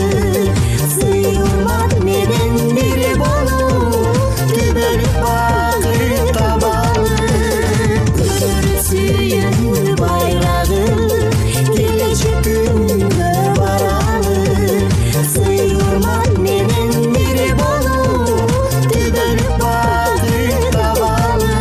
Сый урмат менен бири болуп түбөлүп багыт табалы Көтөрүп сүйем байрагым келечек күнгө баралы Сый урмат менен бири болуп түбөлүп багыт табалы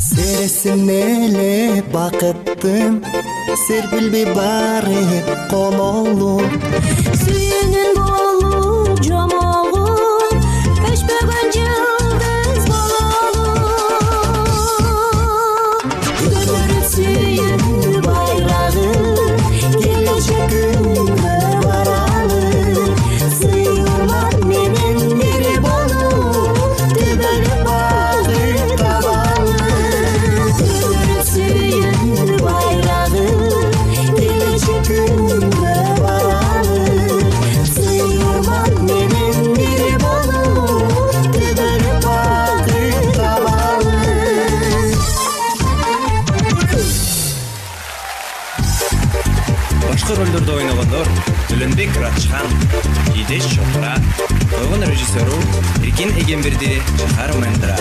Сересин эле бакыттын серпилби барып кололуп Сүйүүнүн болуп жомогуп өчпөгөн жылдыз бололуп Көтөрүп сүйем байрагым келечек күнгө баралы Сый урмат менен бири болуп түбөлүп багыт табалы Көтөрүп сүйем байрагым келечек күнгө баралы Сый урмат менен бири болуп түбөлүп багыт табалы Башкы ролдордо ойногондор Төлөнбек Радчхан, Идеш Чокра, койгон режиссеру Эркин Эгемберди, Шахар Мендра.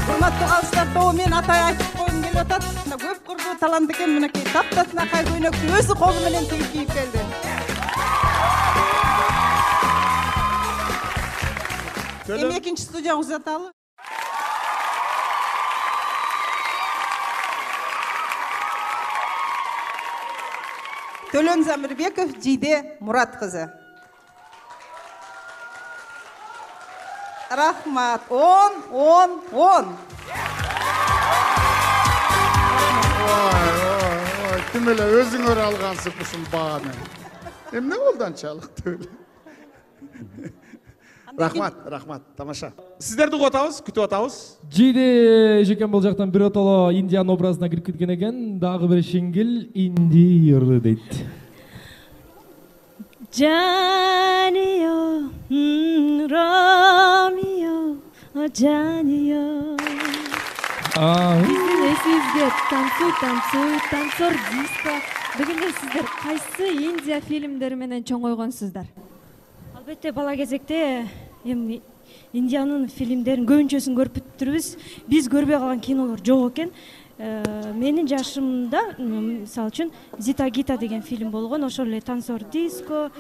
Урматтуу калыстар, тобу мен атай айтып койгум келип атат. Мына көп курдуу талант экен, мынакей таптасынакай көйнөктү өзү колу менен тигип кийип келди. Эми экинчи студияга узаталы. Төлөн Замирбеков, Жиде Мурат кызы. Рахмат. 10. Ким эле өзүңөр алгансың ушул бааны. Эмне болду анчалык эле? Рахмат, тамаша. Сиздерди угуп атабыз, күтүп атабыз. Жиде жекен бул жактан биротоло Индиан образына кирип кеткен экен. Дагы бир шиңгил инди ырды дейт. Джанио, Ромео, Джанио. Биздин эсибизге танцор диско. Дегенде сиздер кайсы Индия фильмдери менен чоңойгонсуздар? Албетте бала кезекте эми Индиянын фильмдерин көбүнчөсүн көрүп бүтүрбүз. Биз көрбөй калган кинолор жок экен. Менин жашымда мисалы үчүн Зита Гита деген фильм болгон, ошол эле танцор диско.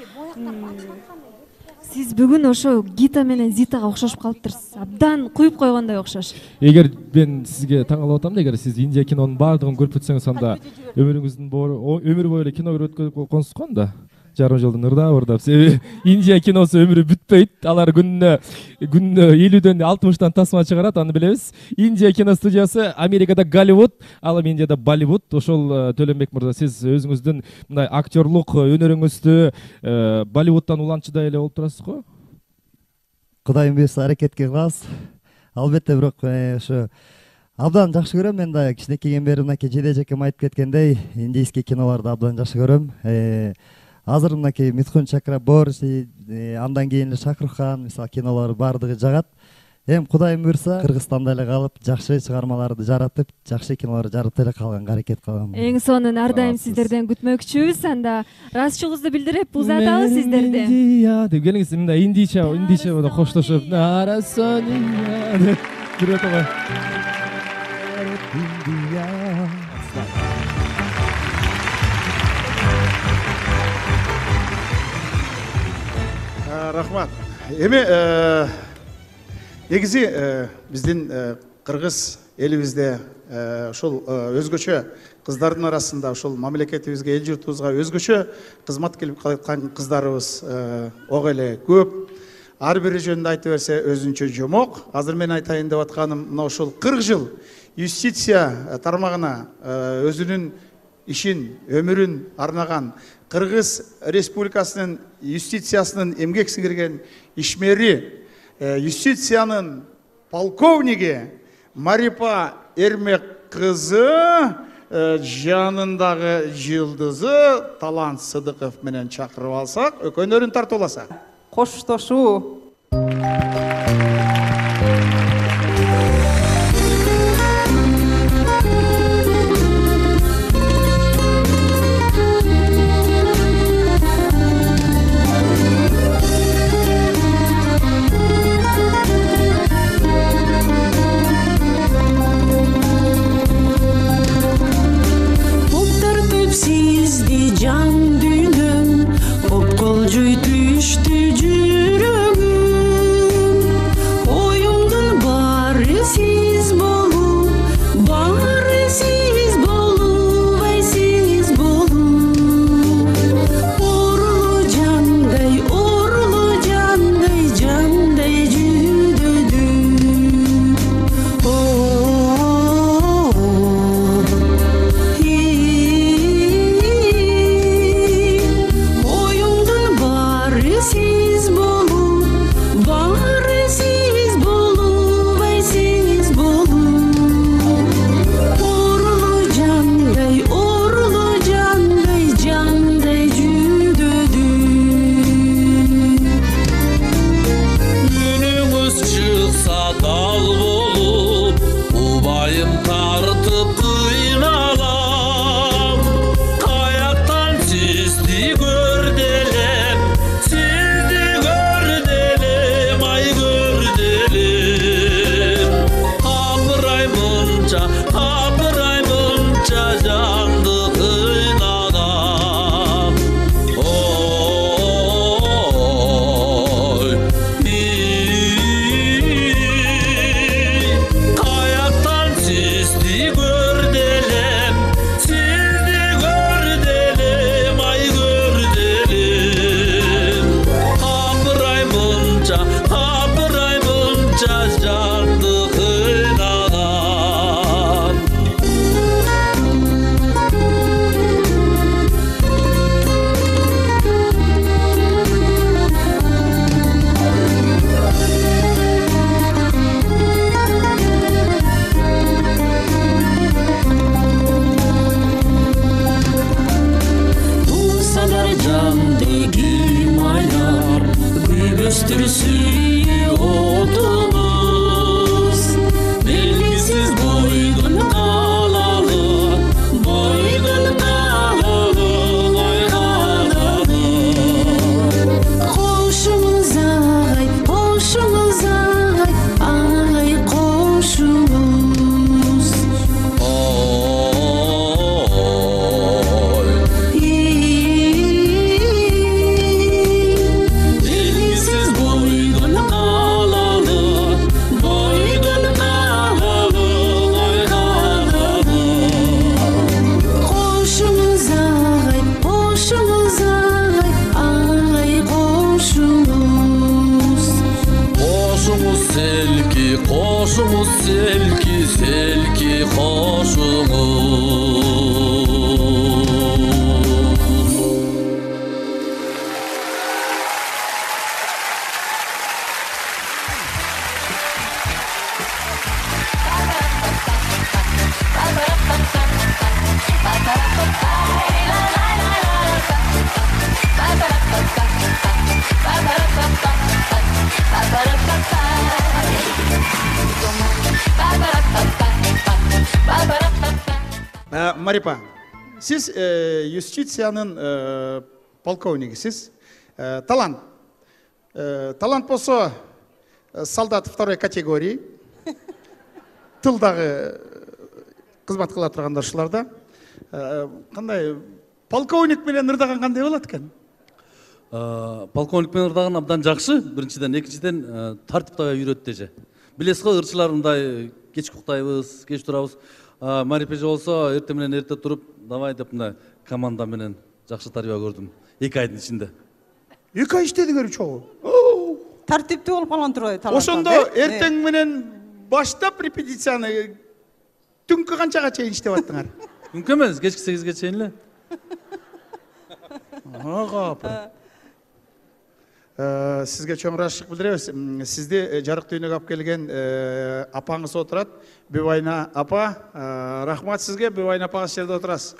Сиз бүгүн ошо Гита менен Зитага окшошуп калыптырсыз. Абдан куюп койгондой окшош. Эгер мен сизге таң калып атам да, эгер сиз Индия кинонун баардыгын көрүп бүтсөңүз, анда өмүр бою эле кино көрүп өткөрүп койгонсуз го анда. Жарым жылдын ырдап. Себеби Индия киносу өмүрү бүтпөйт. Алар күнүнө 50дөн 60тан тасма чыгарат, аны билебиз. Индия кино студиясы Америкада Голливуд, ал эми Индияда Болливуд. Ошол Төлөнбек мырза, сиз өзүңүздүн мындай актерлук өнөрүңүздү Болливудтан уланчыдай эле болуп турасыз го? Кудайым буйрса аракетке кылабыз. Албетте, бирок ошо абдан жакшы көрөм. Мен да кичинекейден бери мынакей Жеде жакем айтып кеткендей, индийский кинолорду абдан жакшы көрөм. Азыр мынакей Митхун Чакраборти, андан кийин эле Шахрухан, мисалы кинолор баардыгы жагат. Эми Кудайым буйрса Кыргызстанда эле калып, жакшы чыгармаларды жаратып, жакшы кинолор жарата эле калганга аракет кылам. Эң сонун ар дайым сиздерден күтмөкчүбүз. Анда ыраазычылыгыбызды билдирип узатабыз сиздерди. Индия деп келиңиз, мындай индийче коштошуп, Нарасония деп биротого. Рахмат. Эми негизи биздин кыргыз элибизде ошол өзгөчө кыздардын арасында ошол мамлекетибизге, эл журтубузга өзгөчө кызмат келип калаткан кыздарыбыз ого эле көп. Ар бири жөнүндө айта берсе өзүнчө жомок. Азыр мен айтайын деп атканым мына ошол 40 жыл юстиция тармагына өзүнүн ишин, өмүрүн арнаган Кыргыз Республикасынын юстициясынын эмгек сиңирген ишмери, юстициянын полковниги Марипа Эрмек кызы жанындагы жылдызы Талант Сыдыков менен чакырып алсак, өкөнөрүн тартууласак. Коштошуу. Can dünüm, okkolcuy düştü cürümüm. Марипа, сиз юстициянын полковнигисиз. Талант. Талант болсо солдат второй категории. Тылдагы кызмат кыла турган ушуларда. Кандай полковник менен ырдаган кандай болот экен? Полковник менен ырдаган абдан жакшы. Биринчиден, экинчиден тартипте үйрөттү эже. Билесиз го, ырчылар мындай кеч уктайбыз, кеч турабыз. Марипа эже болсо эрте менен эрте туруп, давай деп мындай команда менен жакшы тарбия көрдүм 2 айдын ичинде. 2 ай иштедиңер чогуу. Тартиптүү болуп калган турбайбы талант? Ошондо эртең менен баштап репетицияны түнкү канчага чейин иштеп аттыңар? Түнкү эмес, кечки 8ге чейин эле. Сизге чоң ырахмат билдиребиз. Сизди жарык дүйнөгө алып келген апаңыз отурат. Бибайна апа, рахмат сизге. Бибайна апаңыз жерде отурасыз.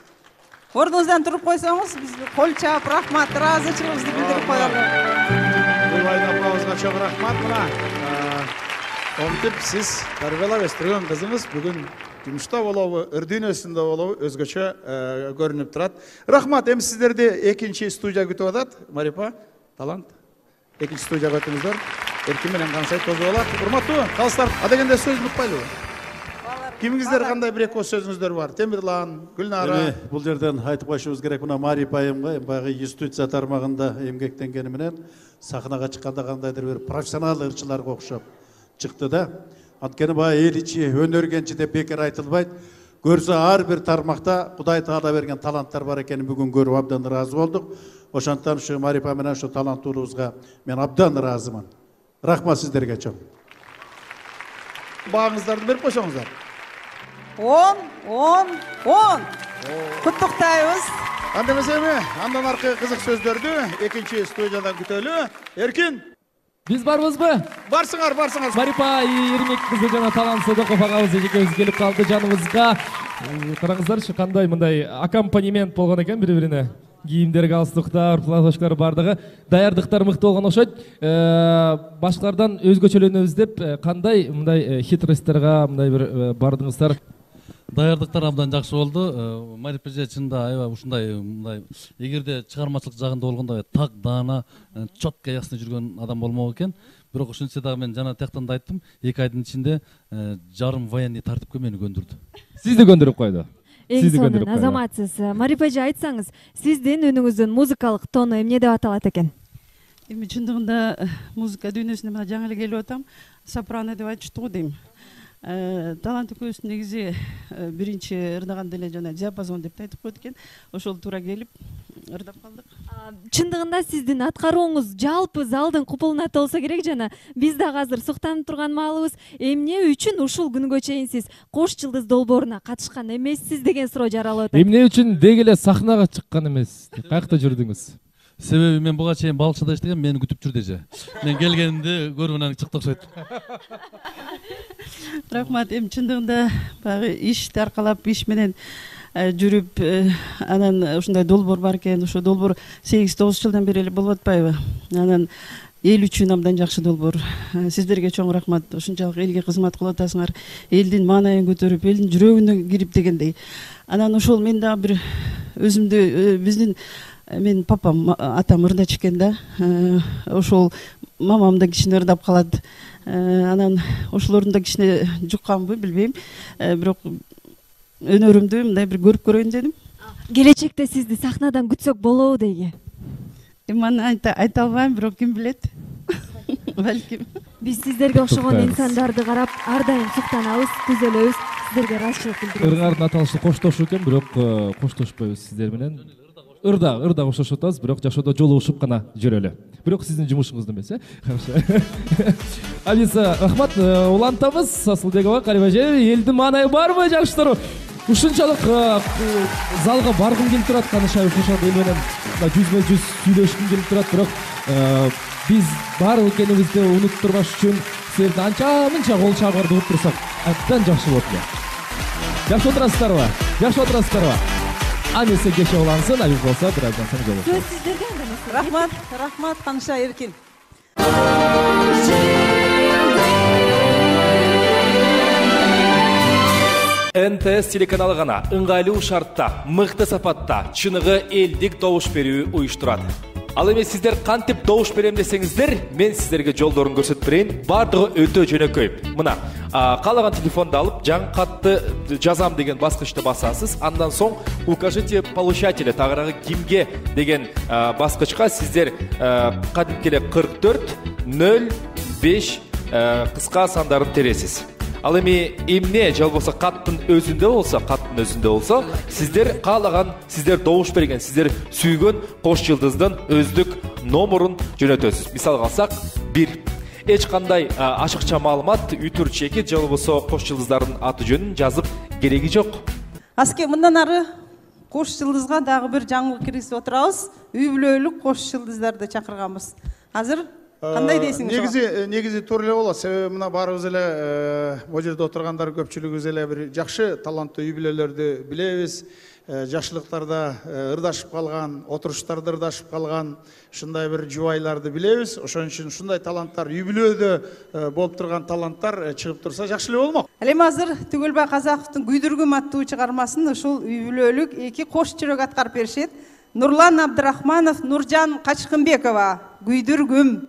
Ордуңуздан туруп койсоңуз, биз кол чаап рахмат, ыраазычылыгыбызды билдирип коелу. Бибайна апабызга чоң рахмат. Мына омтип сиз тарбиялап өстүргөн кызыңыз бүгүн жумушта болобу, ыр дүйнөсүндө болобу өзгөчө көрүнүп турат. Рахмат. Эми сиздерди экинчи студия күтүп атат. Марипа, талант. Экинчи студияга өтүңүздөр. Эркин менен кансай тозу болот. Урматтуу калыстар, адегенде сөз унутпайлыбы? Кимиңиздер кандай бир эки сөзүңүздөр бар? Темирлан, Гүлнара. Бул жерден айтып коюшубуз керек, мына Марипа айымга баягы юстиция тармагында эмгектенгени менен сахнага чыкканда кандайдыр бир профессионал ырчыларга окшоп чыкты да. Анткени баягы эл ичи өнөргенчи деп бекер айтылбайт. Көрсө ар бир тармакта Кудай Таала берген таланттар бар экенин бүгүн көрүп абдан ыраазы болдук. Ошондон ушу Марипа менен ушу таланттуулугубузга мен абдан ыраазымын. Рахмат сиздерге чоң. Багыңыздарды берип койсоңуздар. 10. Куттуктайбыз. Анда эмесеби, андан аркы кызык сөздөрдү экинчи студиядан күтөлү. Эркин, биз барбызбы? Барсыңар. Марипа Ирмек кызы жана Талант Сыдыков агабыз экөөбүз келип калды жаныбызга. Караңыздарчы, кандай мындай аккомпанемент болгон экен бири-бирине. Кийимдер, галстуктар, платочкалар бардыгы. Даярдыктар мыкты болгон окшойт. Башкалардан өзгөчөлөнөбүз деп кандай мындай хитростторго мындай бир бардыңыздар? Даярдыктар абдан жакшы болду. Марипа эже чында аябай ушундай мындай эгерде чыгармачылык жагында болгондо так даана, четко ясно жүргөн адам болмок экен. Бирок ошентсе дагы мен жана тияктан да айттым, 2 айдын ичинде жарым военный тартипке мени көндүрдү. Сизди көндүрүп койду. Эң сонун азаматсыз. Марипа эже, айтсаңыз, сиздин үнүңүздүн музыкалык тону эмне деп аталат экен? Эми чындыгында музыка дүйнөсүнө мына жаңы эле келип атам, сопрано деп айтыштыбы дейм. Талант экөөбүз негизи биринчи ырдаганда эле жана диапазон деп айтып койду экен. Ошол туура келип ырдап калдык. Чындыгында сиздин аткарууңуз жалпы залдын купулуна толсо керек жана биз дагы азыр суктанып турган маалыбыз. Эмне үчүн ушул күнгө чейин сиз Кош жылдыз долбооруна катышкан эмессиз деген суроо жаралып атат. Эмне үчүн деги эле сахнага чыккан эмес? Каякта жүрдүңүз? Себеби мен буга чейин балыкчыда иштегем, мени күтүп жүрдү эже. Мен келгенимде көрүп анан чыкты окшойт. Рахмат. Эми чындыгында баягы ишти аркалап, иш менен жүрүп, анан ушундай долбоор бар экен. Ошо долбоор 8-9 жылдан бери эле болуп атпайбы? Анан эл үчүн абдан жакшы долбоор. Сиздерге чоң рахмат. Ушунчалык элге кызмат кылып атасыңар. Элдин маанайын көтөрүп, элдин жүрөгүнө кирип дегендей. Анан ошол мен дагы бир өзүмдү биздин мен папам, атам ырдачу экен да. Ошол мамам да кичине ырдап калат. Анан ошолордун да кичине жукканбы, билбейм. Бирок өнөрүмдү мындай бир көрүп көрөйүн дедим. Келечекте сизди сахнадан күтсөк болобу дейги? Эми аны айта албайм, бирок ким билет. Балким. Биз сиздерге окшогон инсандарды карап ар дайым суктанабыз, түзөлөбүз. Сиздерге ыраазычылык билдиребиз. Ыргардын аталышы коштошуу экен, бирок коштошпойбуз сиздер менен. Ырда коштошуп атабыз, бирок жашоодо жолугушуп гана жүрөлү. Бирок сиздин жумушуңуз эмес, Хорошо. Алиса, рахмат, улантабыз. Асылбекова, Кариба эже, элдин маанайы барбы, жакшылар? Ушунчалык залга баргым келип турат, канышай ушунчалык эл менен жүзмө-жүз сүйлөшкүм келип турат, бирок биз бар экенибизди унуттурбаш үчүн силердин анча-мынча кол чабарды угуп турсак, абдан жакшы болот эле. Жакшы отурасыздарбы? Жакшы отурасыздарбы? Анысы кеше улансын, абиз болсо бир айдан соң жолугушабыз. Сөз сиздерге анда. Рахмат, Канышай Эркин. НТС телеканалы гана ыңгайлуу шартта, мыкты сапатта чыныгы элдик добуш берүү уюштурат. Ал эми сиздер кантип добуш берем десеңиздер, мен сиздерге жолдорун көрсөтүп берейин. Бардыгы өтө жөнөкөй. Мына, каалаган телефонду алып, жаңы катты жазам деген баскычты басасыз. Андан соң укажите получателя, тагыраагы кимге деген баскычка сиздер кадимки эле 4405 кыска сандарын тересиз. Ал эми эмне же болбосо каттын өзүндө болсо, сиздер каалаган, сиздер добуш берген, сиздер сүйгөн кош жылдыздын өздүк номерун жөнөтөсүз. Мисалга алсак, 1. Эч кандай ашыкча маалымат, үтүр чеки же болбосо кош жылдыздардын аты жөнүн жазып кереги жок. Аске мындан ары кош жылдызга дагы бир жаңылык киргизип отурабыз. Үй бүлөлүк кош жылдыздарды чакырганбыз. Азыр кандай дейсиңиз? Негизи туура эле болот. Себеби мына баарыбыз эле могу жерде отургандар көпчүлүгүбүз эле бир жакшы таланттуу үй бүлөлөрдү билебиз. Жакшылыктарда ырдашып калган, отуруштарда ырдашып калган ушундай бир жубайларды билебиз. Ошон үчүн ушундай таланттар үй бүлөдө болуп турган таланттар чыгып турса жакшы эле болмок. Ал эми азыр Түгөлбай Казаковдун Күйдүргүм аттуу чыгармасын ушул үй бүлөлүк эки кош жүрөк аткарып беришет. Нурлан Абдрахманов, Нуржан Качкынбекова. Күйдүргүм.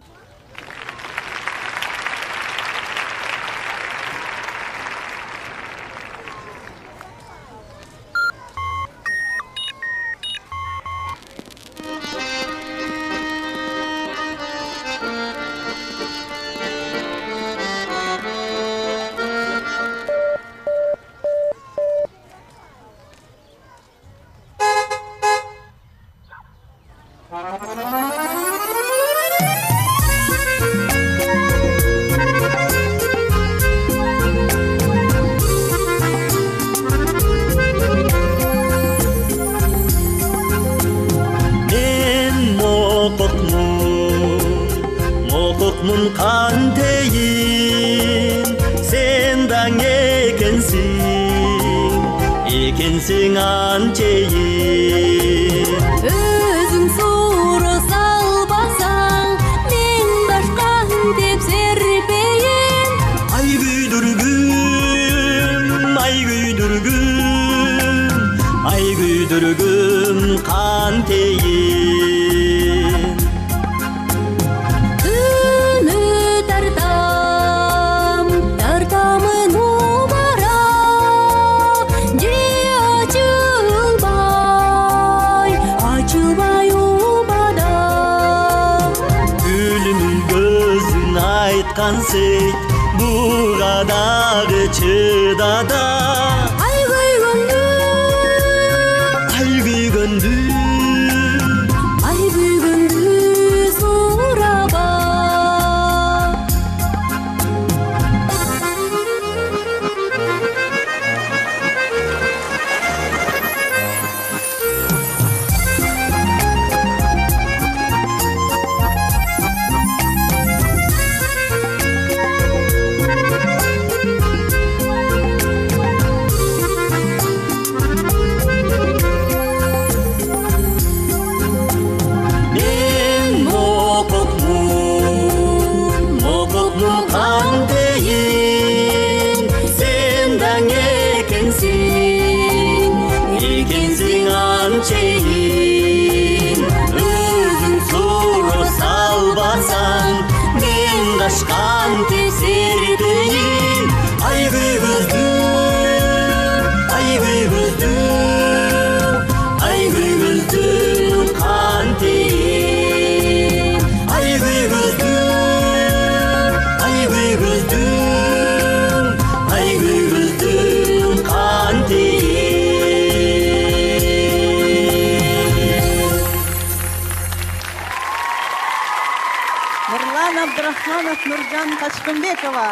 Нуржан Качкынбекова.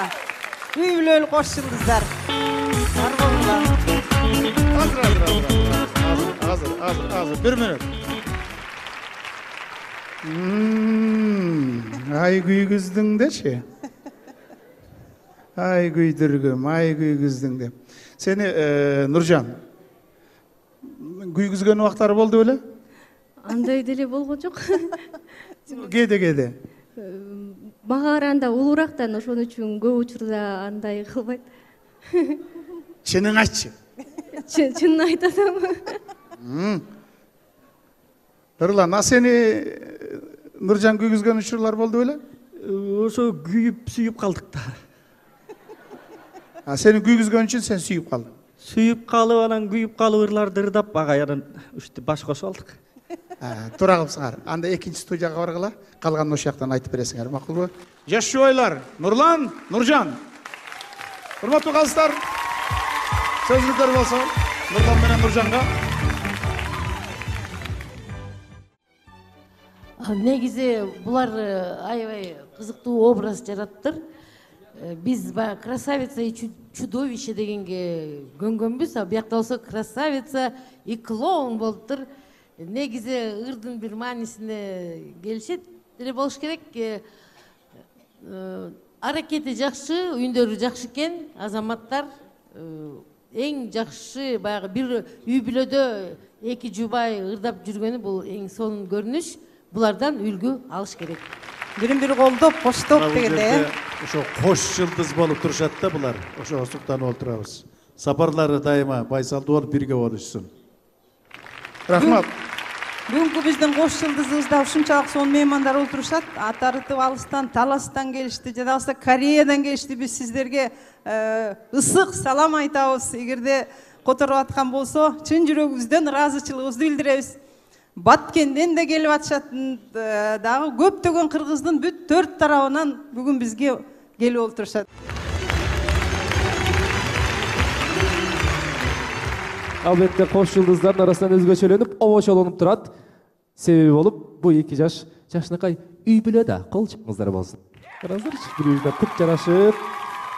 Үй бүлөлүк кош жылдыздар. Азыр, бир мүнөт. Ай күйгүздүң дечи. Ай күйдүргүм, ай күйгүздүң деп. Сени Нуржан күйгүзгөн убактары болду беле? Андай деле болгон жок. Кээде. Мага караганда улуурактан, ошон үчүн көп учурда андай кылбайт. Чынын айтчы. Чынын айтасам. Нурлан, а сени Нуржан күйгүзгөн учурлар болду беле? Ошо күйүп сүйүп калдык да. А сени күйгүзгөн үчүн сен сүйүп калдың. Сүйүп калып, анан күйүп калып ырларды ырдап, ага анан ушти баш кошуп алдык. Тура калыпсыңар. Анда экинчи студияга баргыла, калганын ошол жактан айтып бересиңер, макулбу? Жаш жубайлар, Нурлан, Нуржан. Урматтуу калыстар. Сөзүңүздөр болсо, Нурлан менен Нуржанга. Негизи булар аябай кызыктуу образ жараттыр. Биз баягы красавица и чудовище дегенге көнгөнбүз, а биякта болсо красавица и клоун болуптур. Негизи ырдын бир маанисине келишет деле болуш керек. Аракети жакшы, үндөрү жакшы экен, азаматтар эң жакшы баягы бир үй бүлөдө эки жубай ырдап жүргөнү бул эң сонун көрүнүш. Булардан үлгү алыш керек. Бирин бири колдоп, коштоп дегенде. Ошо кош жылдыз болуп турушат да булар. Ошого суктанып отурабыз. Сапарлары дайыма байсалдуу болуп бирге болушсун. Рахмат. Бүгүнкү биздин кош жылдызыбызда ушунчалык сонун меймандар отурушат. Атарытып алыстан, Таластан келишти, жада болсо Кореядан келишти. Биз сиздерге ысык салам айтабыз. Эгерде которуп аткан болсо, чын жүрөгүбүздөн ыраазычылыгыбызды билдиребиз. Баткенден де келип атышат, дагы көптөгөн кыргыздын бүт 4 тарабынан бүгүн бизге келип отурушат. Албетте кош жылдыздардын арасынан өзгөчөлөнүп, обочолонуп турат. Себеби болуп, бул эки жашынакай үй бүлөдө кол чапыңыздар болсун. Караңыздарчы, бири-бирине кут жарашып,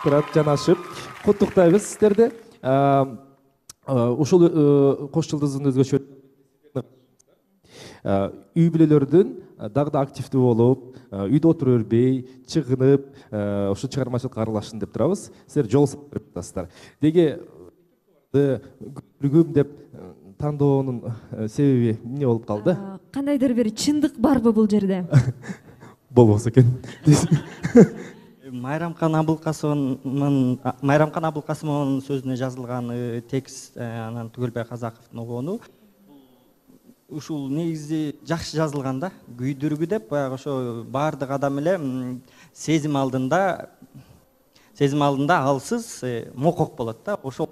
турат, жанашып. Куттуктайбыз сиздерди. Ушул кош жылдыздын өзгөчө үй бүлөлөрдүн дагы да активдүү болуп, үйдө отура бербей, чыгынып, ошо чыгармачылыкка аралашсын деп турабыз. Силер жол салып атасыздар. Деги көргүм деп тандоонун себеби эмне болуп калды? Кандайдыр бир чындык барбы бул жерде? Болбосо экен. Майрамкан Абылкасымовдун сөзүнө жазылган текст, анан Түгөлбай Казаковдун огону. Ушул негизи жакшы жазылган да, күйдүргү деп, баягы ошо баардык адам эле сезим алдында алсыз мокок болот да. Ошол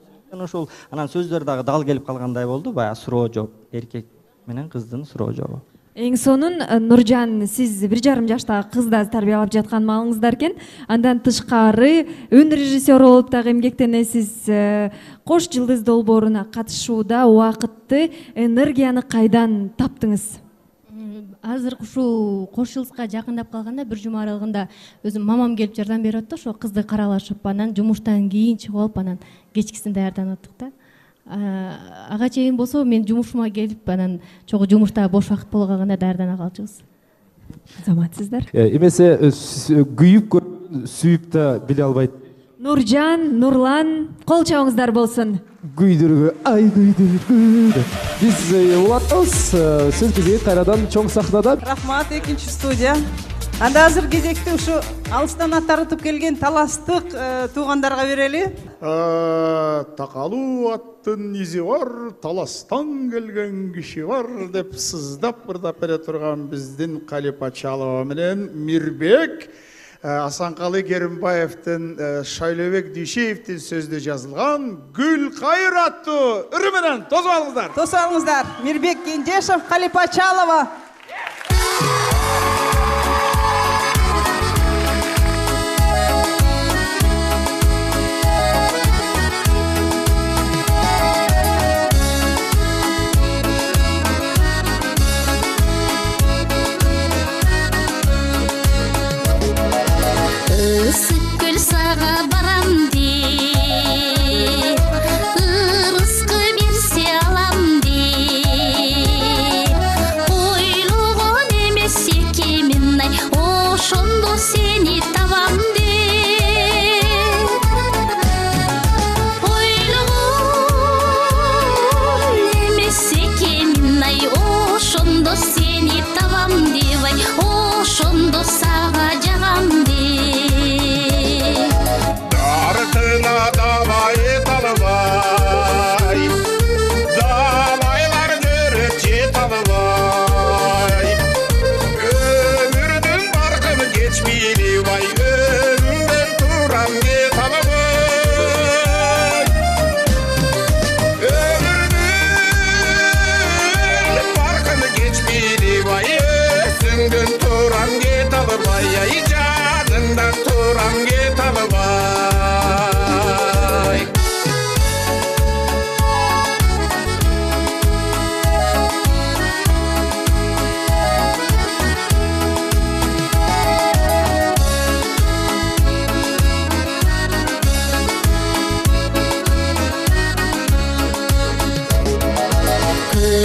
анан сөздөр дагы дал келип калгандай болду, баягы суроо жооп, эркек менен кыздын суроо жообу. Эң сонун Нуржан, сиз 1,5 жаштагы кызды тарбиялап жаткан маалыңыздар экен. Андан тышкары өнөр режиссеру болуп дагы эмгектенесиз. Кош жылдыз долбооруна катышууда убакытты, энергияны кайдан таптыңыз? Азыр ушул кош жылдызга жакындап калганда 1 жума аралыгында өзүм мамам келип жардам берип атты, ошо кызды каралашып, анан жумуштан кийин чыгып алып, анан кечкисин даярданып аттык да. Ага чейин болсо мен жумушума келип, анан чогуу жумушта бош убакыт боло калганда даярдана калчубуз. Азаматсыздар. Эмесе күйүп сүйүп да биле албайт. Нуржан, Нурлан, кол чабыңыздар болсун. Күйдүргү, ай күйдүргү. Биз улаттабыз. Сөз кезеги кайрадан чоң сахнада. Рахмат, экинчи студия. Анда азыр кезекти ушу алыстан аттарытып келген таластык туугандарга берели. Такалуу аттын изи бар, таластан келген киши бар деп сыздап ырдап бере турган биздин Калипа Чалова менен Мирбек Асанкалы Керимбаевдин Шайлообек Дүйшеевдин сөзүндө жазылган Гүл кайыр аттуу ыры менен тосуп алыңыздар. Тосуп алыңыздар. Мирбек Кенжешев, Калипа Чалова. Гүл сага барам деп, ырыскы берсе алам деп,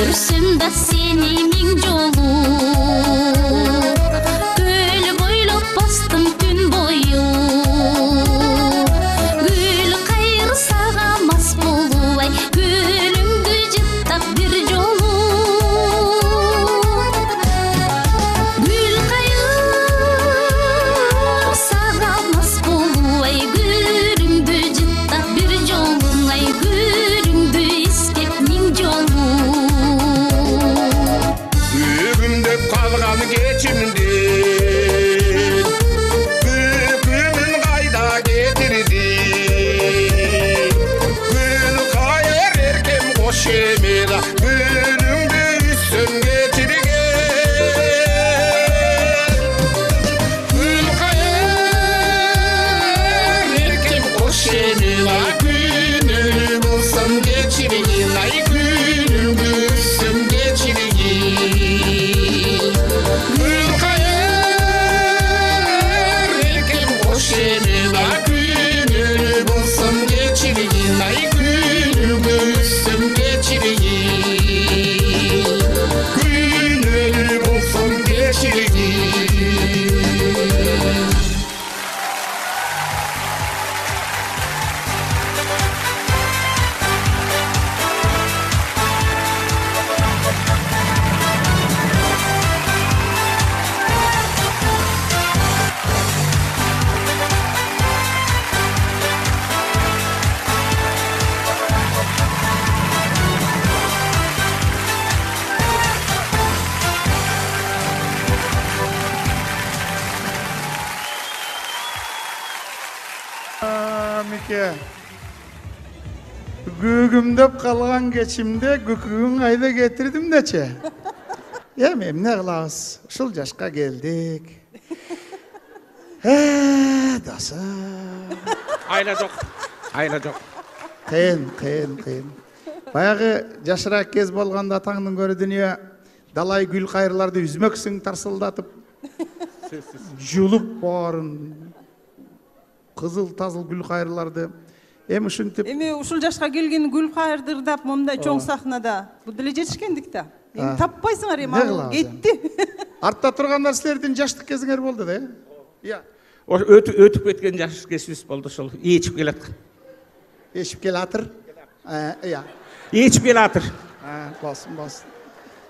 көрсөм да сени миң жолу көл бойлоп бастым түн бою гүл кайыр сага мас болубай гүлүңдү жыттап бир жолу гүл кайыр сага мас болубай гүлүңдү жыттап бир жолу ай гүлүңдү искеп миң жолу Бүгүндеп калган кечимди күнүн кайда кетирди гүл кайыр эркем кош эмела гүлүңдү үстөн кечирген гүл кайыр эркем кош эмела күнү болсом кечирген ай гүлүңдү үстөн кечирген гүл кайыр эркем кош эмела күнү болсом кечирген ай гүлүңдү үстөн кечирген күнү болсом кечирген Мике гүгүмдөп калган кечимде күкүгүн кайда кетирдим дечи эми эмне кылабыз ушул жашка келдик досум Айла жок. Айла жок. кыйын баягы жашыраак кез болгондо атаңдын көрө дүнүйө далай гүл кайырларды үзмөксүң тарсылдатып жулуп баарын кызыл тазыл гүл кайырларды эми ушинтип эми ушул жашка келген гүл кайырды ырдап момундай чоң сахнада бул деле жетишкендик да эми таппайсыңар эми ал кетти артта тургандар силердин жаштык кезиңер болду да э Өтүп кеткен жаш кезибиз болду ошол. Ээчип келаткан. Ээчип келатыр. Ээчип келатыр. Болсун.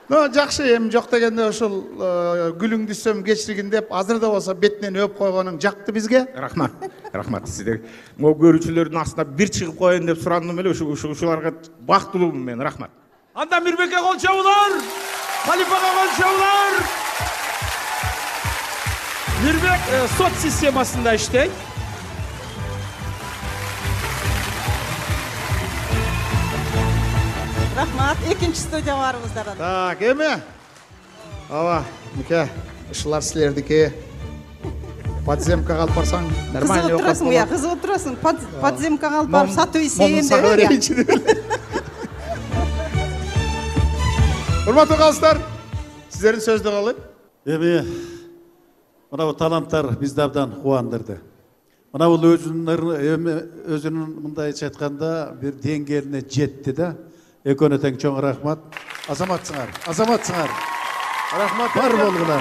Жакшы эми жок дегенде ошол гүлүңдү сөм кечиргин деп азыр да болсо бетинен өп койгонуң жакты бизге. Рахмат сиздерге. Могу көрүүчүлөрдүн астына бир чыгып коеюн деп сурандым эле, ушуларга бактылуумун мен. Рахмат. Анда Мирбекке кол чабуулар, Халифага кол чабуулар. Мирбек сот системасында иштейт. Рахмат, экинчи студия барыбыздар. Так, эми ооба, Мике, ушулар силердики. Подземкага алып барсаң, нормальный окуп отурасың, кызып отурасың. Подземкага алып барып сатып ийсем деп. Урматтуу калыстар, сиздердин сөздү калып. Эми мына таланттар бизди абдан кубандырды. Мына бул өзүнүн мындайча айтканда бир деңгээлине жетти да. Экөөнө тең чоң рахмат. Азаматсыңар. Рахмат бар болгула.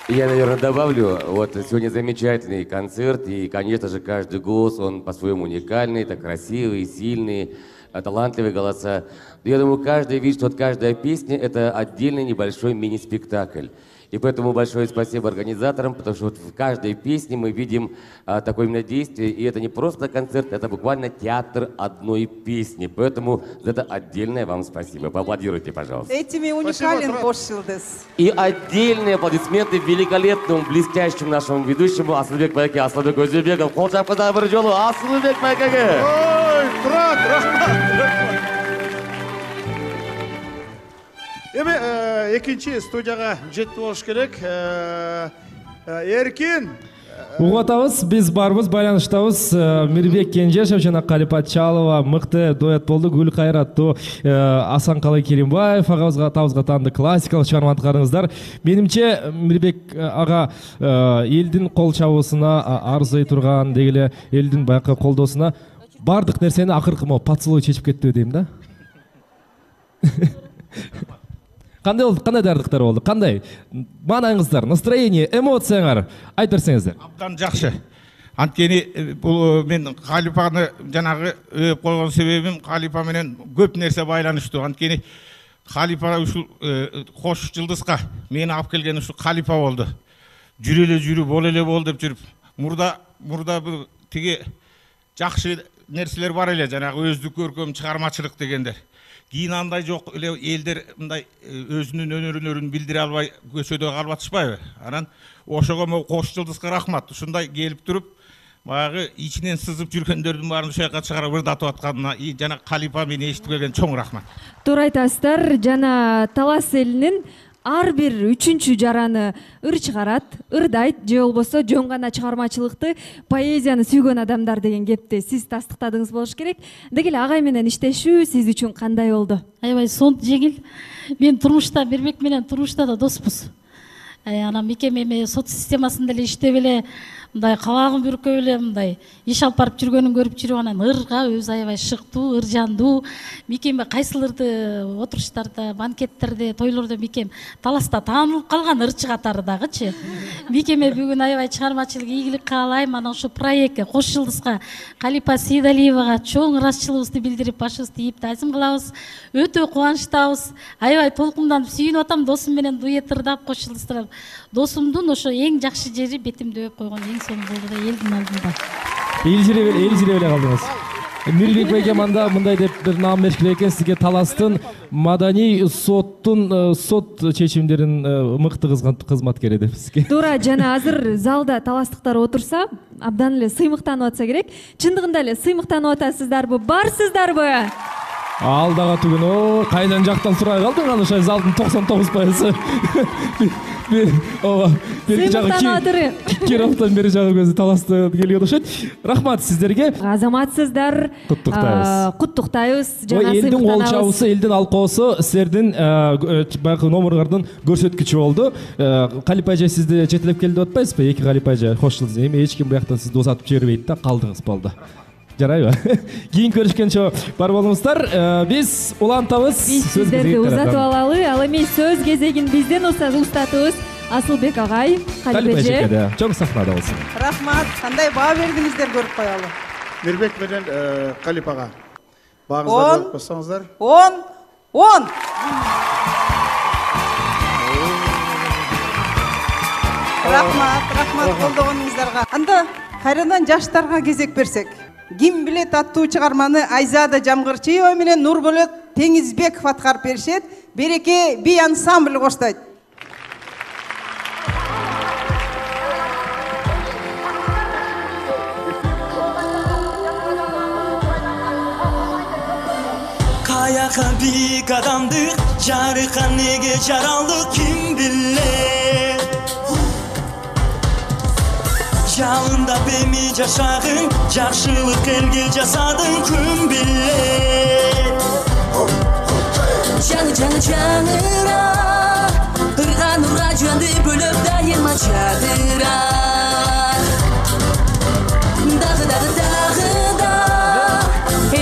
Я, наверное, добавлю, вот сегодня замечательный концерт, и, конечно же, каждый голос, он по-своему уникальный, это красивый, сильный, талантливые голоса. Но я думаю, каждый видит, что вот каждая песня — это отдельный небольшой мини-спектакль. И поэтому большое спасибо организаторам, потому что вот в каждой песне мы видим такое именно действие, и это не просто концерт, это буквально театр одной песни. Поэтому за это отдельное вам спасибо. Поаплодируйте, пожалуйста. Этими уникален Бошилдес. И отдельные аплодисменты великолепному, блестящему нашему ведущему Асылбек Байке, Асылбек Өзебеков. Кол чапкыда бир жолу Асылбек Байкеге. Ой, брат, рахмат. Эми экинчи студияга жетип болуш керек. Эркин. Угуп атабыз, биз барбыз, байланыштабыз. Мирбек Кенжешев жана Кали Патчалова мыкты дуэт болду. Гүл кайыр аттуу Асанкалы Керимбаев агабызга табызга таанды классикалык чыгарманы аткарыңыздар. Менимче Мирбек ага элдин кол чабуусуна арзый турган, деги эле элдин баякы колдоосуна бардык нерсени акыркы поцелуй чечип кетти дейм да. Кандай болду? Кандай даярдыктар болду? Кандай маанаңыздар, настроение, эмоцияңар айтып берсеңиздер. Абдан жакшы. Анткени бул мен Калипаны жанагы өөп койгон себебим Калипа менен көп нерсе байланыштуу. Анткени Калипа ушул кош жылдызга мени алып келген ушул Калипа болду. Жүрү боло эле бол деп жүрүп, мурда бул тиги жакшы нерселер бар эле, жанагы өздүк көркөм чыгармачылык дегендер. Кийин андай жок эле элдер мындай өзүнүн өнөрүн билдире албай көчөдө калып атышпайбы? Анан ошого могу кош жылдызга рахмат. Ушундай келип туруп, баягы ичинен сызып жүргөндөрдүн баарын ушул жака чыгарып ырдатып атканына жана Калипа мени эшитип келген чоң рахмат. Туура айтасыздар. Жана Талас элинин ар бир үчүнчү жараны ыр чыгарат, ырдайт, же болбосо жөн гана чыгармачылыкты, поэзияны сүйгөн адамдар деген кепти сиз тастыктадыңыз болуш керек. Деги эле агай менен иштешүү сиз үчүн кандай болду? Аябай сонун жеңил. Мен турмушта Бербек менен турмушта да доспуз. Анан Микем эми сот системасында эле иштеп эле мындай кабагын бүркөп эле мындай иш алып барып жүргөнүн көрүп жүрүп анан ырга өзү аябай шыктуу, ыржандуу. Микем кайсылырды отуруштарда, банкеттерде, тойлордо Микем Таласта таанылып калган ырчы катары дагычы. Микеме бүгүн аябай чыгармачылык ийгилик каалайм. Анан ушу проектке Кош жылдызга Калипа Сейдалиевага чоң ыраазычылыгыбызды билдирип, башыбызды ийип таазим кылабыз. Өтө кубанычтабыз. Аябай толкунданып сүйүнүп атам, досум менен дуэт ырдап Кош жылдыздырып. Досумдун ошо эң жакшы жери бетимди өп койгон эң сонун болду да элдин алдында. Элжиребей эле калдыңыз. Мирбек байке мындай деп бир наам беришкен экен сизге Таластын маданий соттун сот чечимдерин мыкты кызматкери деп сизге. Туура, жана азыр залда таластыктар отурса, абдан эле сыймыктанып атса керек. Чындыгында эле сыймыктанып атасыздарбы? Барсыздарбы? Ал дагы түгүн, кайдан жактан сурай калдың аны ошо залдын 99%. Бери жагы Кировтон бери жагы көзү Таласты келген окшойт. Рахмат сиздерге. Азаматсыздар. Куттуктайбыз. Жана элдин кол чабысы, элдин алкоосу силердин баягы номерлордун көрсөткүчү болду. Калипа эже сизди жетелеп келди деп атпайсызбы? Эки Калипа эже кош жылдыз. Эми эч ким буяктан сизди узатып жибербейт да, калдыңыз болду. Жарайбы? Кийин көрүшкөнчө бар болуңуздар. Биз улантабыз. Биз сиздерди узатып алалы. Ал эми сөз кезегин бизден устатыбыз. Асылбек агай, Калипа эже. Чоң сахнада болсун. Рахмат. Кандай баа бердиңиздер көрүп коелу. Мирбек менен Калипага баагыңызды көрүп койсоңуздар. 10. Рахмат колдогонуңуздарга. Анда кайрадан жаштарга кезек берсек. Ким билет аттуу чыгарманы Айзада Жамгырчиева менен Нурболот Теңизбеков аткарып беришет. Береке би ансамбль коштойт. Каяка бийик адамдык, жарыккан неге жаралдык ким билет. Жалында беми жашагың, жакшылык элге жасадың күн билет. Жаңыра, ырган урга жөнді бөлөп дайыма жадыра. Дагы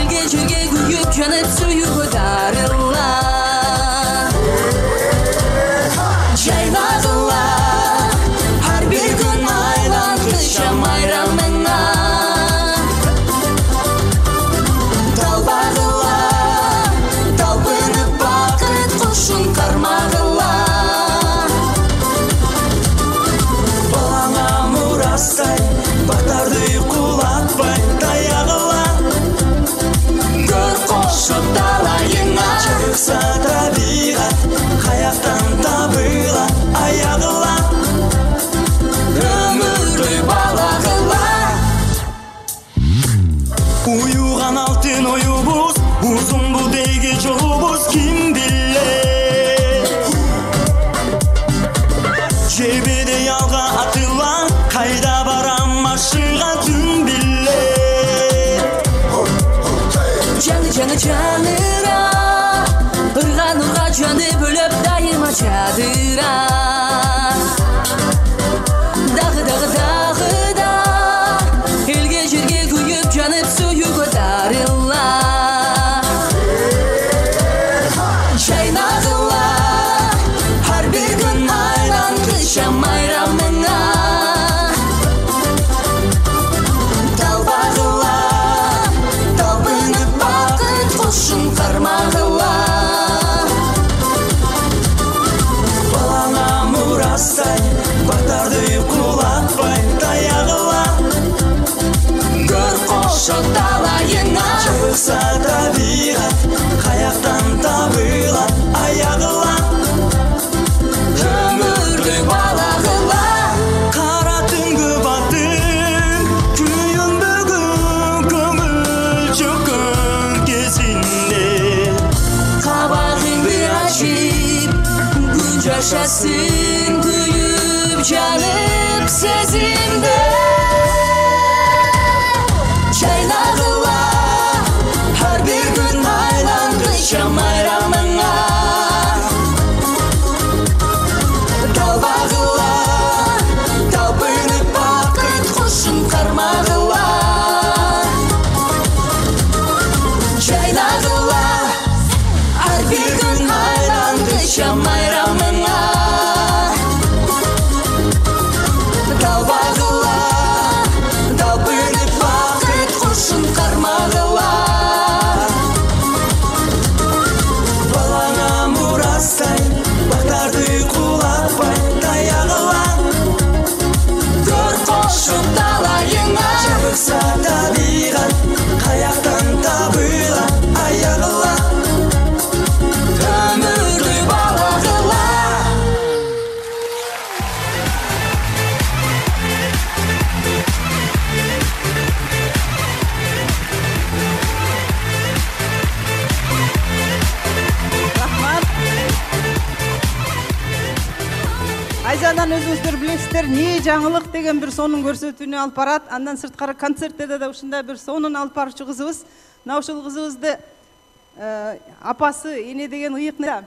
элге жүргө күйүп жанып сүйүүгө дарыла. Жайлагыла, ар бир күн айланкыча майрамыңа. Талбагыла, талпынып бакыт кушун кармагыла. Балаңа мурастай, бактарды кулатпай таягыла. Көр кошуп далайыңа, чыкса табигат, каяктан табыла аягыла. Өмүрдү балагыла. Уюган алтын оюбуз, узун бу дейге жолубуз ким билет. Жебеде ялга атыла, кайда барам маршыга түн билет. Жаңыра, ырган урга жөнү бөлөп дайыма жадыра. Дагы элге жерге күйүп жанып сүйүүгө дарыла. жашасын күйүп жанып сезимде жайнагыла ар бир күн айлангыча майрамыңа талбагыла талпынып бакыт кушун кармагыла жайнагыла ар бир күн айлангыча майрамыңа талбагыла талпынып бакыт кушун кармагыла балаңа мурастай бактарды кулатпай таягыла көр кошуп талайыңа жабыкса табигат каяктан табыла аягыла өмүрдү балагыла Айзадан өзүңүздөр билесиздер, не жаңылык деген бир сонун көрсөтүүнү алып барат. Андан сырткары концертте да ушундай бир сонун алып баруучу кызыбыз. Мына ушул кызыбызды апасы эне деген ыйыкны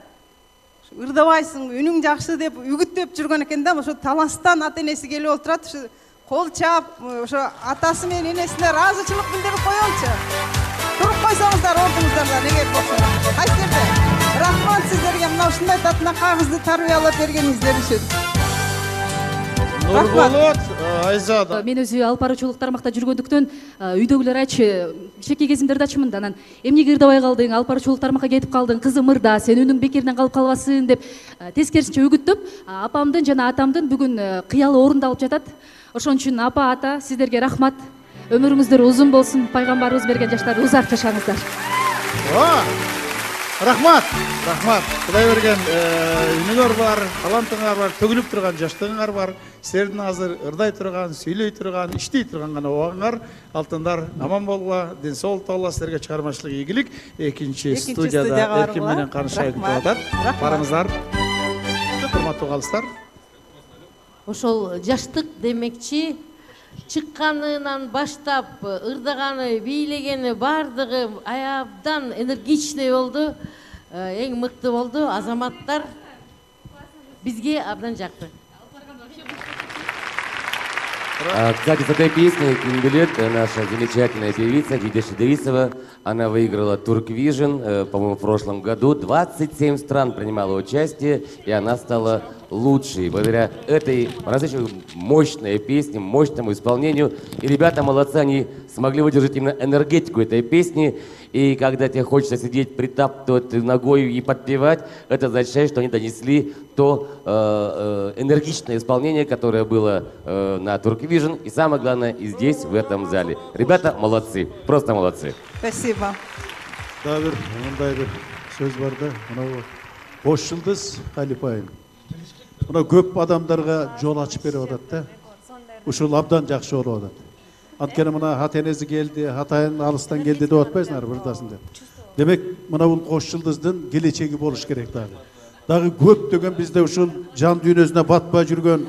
ырдабайсың, үнүң жакшы деп үгүттөп жүргөн экен да. Ошо таластан ата энеси келип отурат. Ушу кол чаап, ошо атасы менен энесине ыраазычылык билдирип коелучу. Туруп койсоңуздар ордуңуздарда неге болсун. Кайсы жерде? Рахмат сиздерге мына ушундай татына кагызды тарбиялап бергениңиздер үчүн. Нурболот, Айзада. Мен өзү алып баруучулук тармакта жүргөндүктөн үйдөгүлөр айтчы, кичинекей кезимдерде айтчымын да, анан эмнеге ырдабай калдың, алып баруучулук тармакка кетип калдың, кызым ырда, сен үнүң бекеринен калып калбасын деп тескерисинче үгүттөп, апамдын жана атамдын бүгүн кыялы орундалып жатат. Ошон үчүн апа, ата, сиздерге рахмат. Өмүрүңүздөр узун болсун, пайгамбарыбыз берген жаштар узак жашаңыздар. Рахмат, Кудай берген үнүңөр бар, талантыңар бар, төгүлүп турган жаштыгыңар бар. Силердин азыр ырдай турган, сүйлөй турган, иштей турган гана убагыңар. Алтындар аман болгула, ден соолук табыла, силерге чыгармачылык ийгилик. Экинчи студияда Эркин менен Канышай айтып атат. Барыңыздар. Урматтуу калыстар. Ошол жаштык демекчи чыкканынан баштап ырдаганы, бийлегени баардыгы аябдан энергичный болду, эң мыкты болду. Азаматтар бизге абдан жакты. Кстати, с этой песней Кинбилет, наша замечательная певица Дидеша Идрисова, она выиграла Турквижн, по-моему, в прошлом году. 27 стран принимала участие, и она стала лучшей. Благодаря этой по-настоящему мощной песне, мощному исполнению. И ребята молодцы, они смогли выдержать именно энергетику этой песни. И когда тебе хочется сидеть, притаптывать ногой и подпевать, это означает, что они донесли то энергичное исполнение, которое было на Турквижн. И самое главное, и здесь, в этом зале. Ребята молодцы, просто молодцы. Спасибо. Да, мындай бир сөз бар да, мына Кош Жылдыз Калипайым. Мына көп адамдарга жол ачып берип атат да. Ушул абдан жакшы болуп атат. Анткени мына ата энеси келди, атайын алыстан келди деп атпайсыңар бырдасын деп. Демек, мына бул Кош Жылдыздын келечеги болуш керек дагы. Дагы көптөгөн бизде ушул жан дүйнөсүнө батпай жүргөн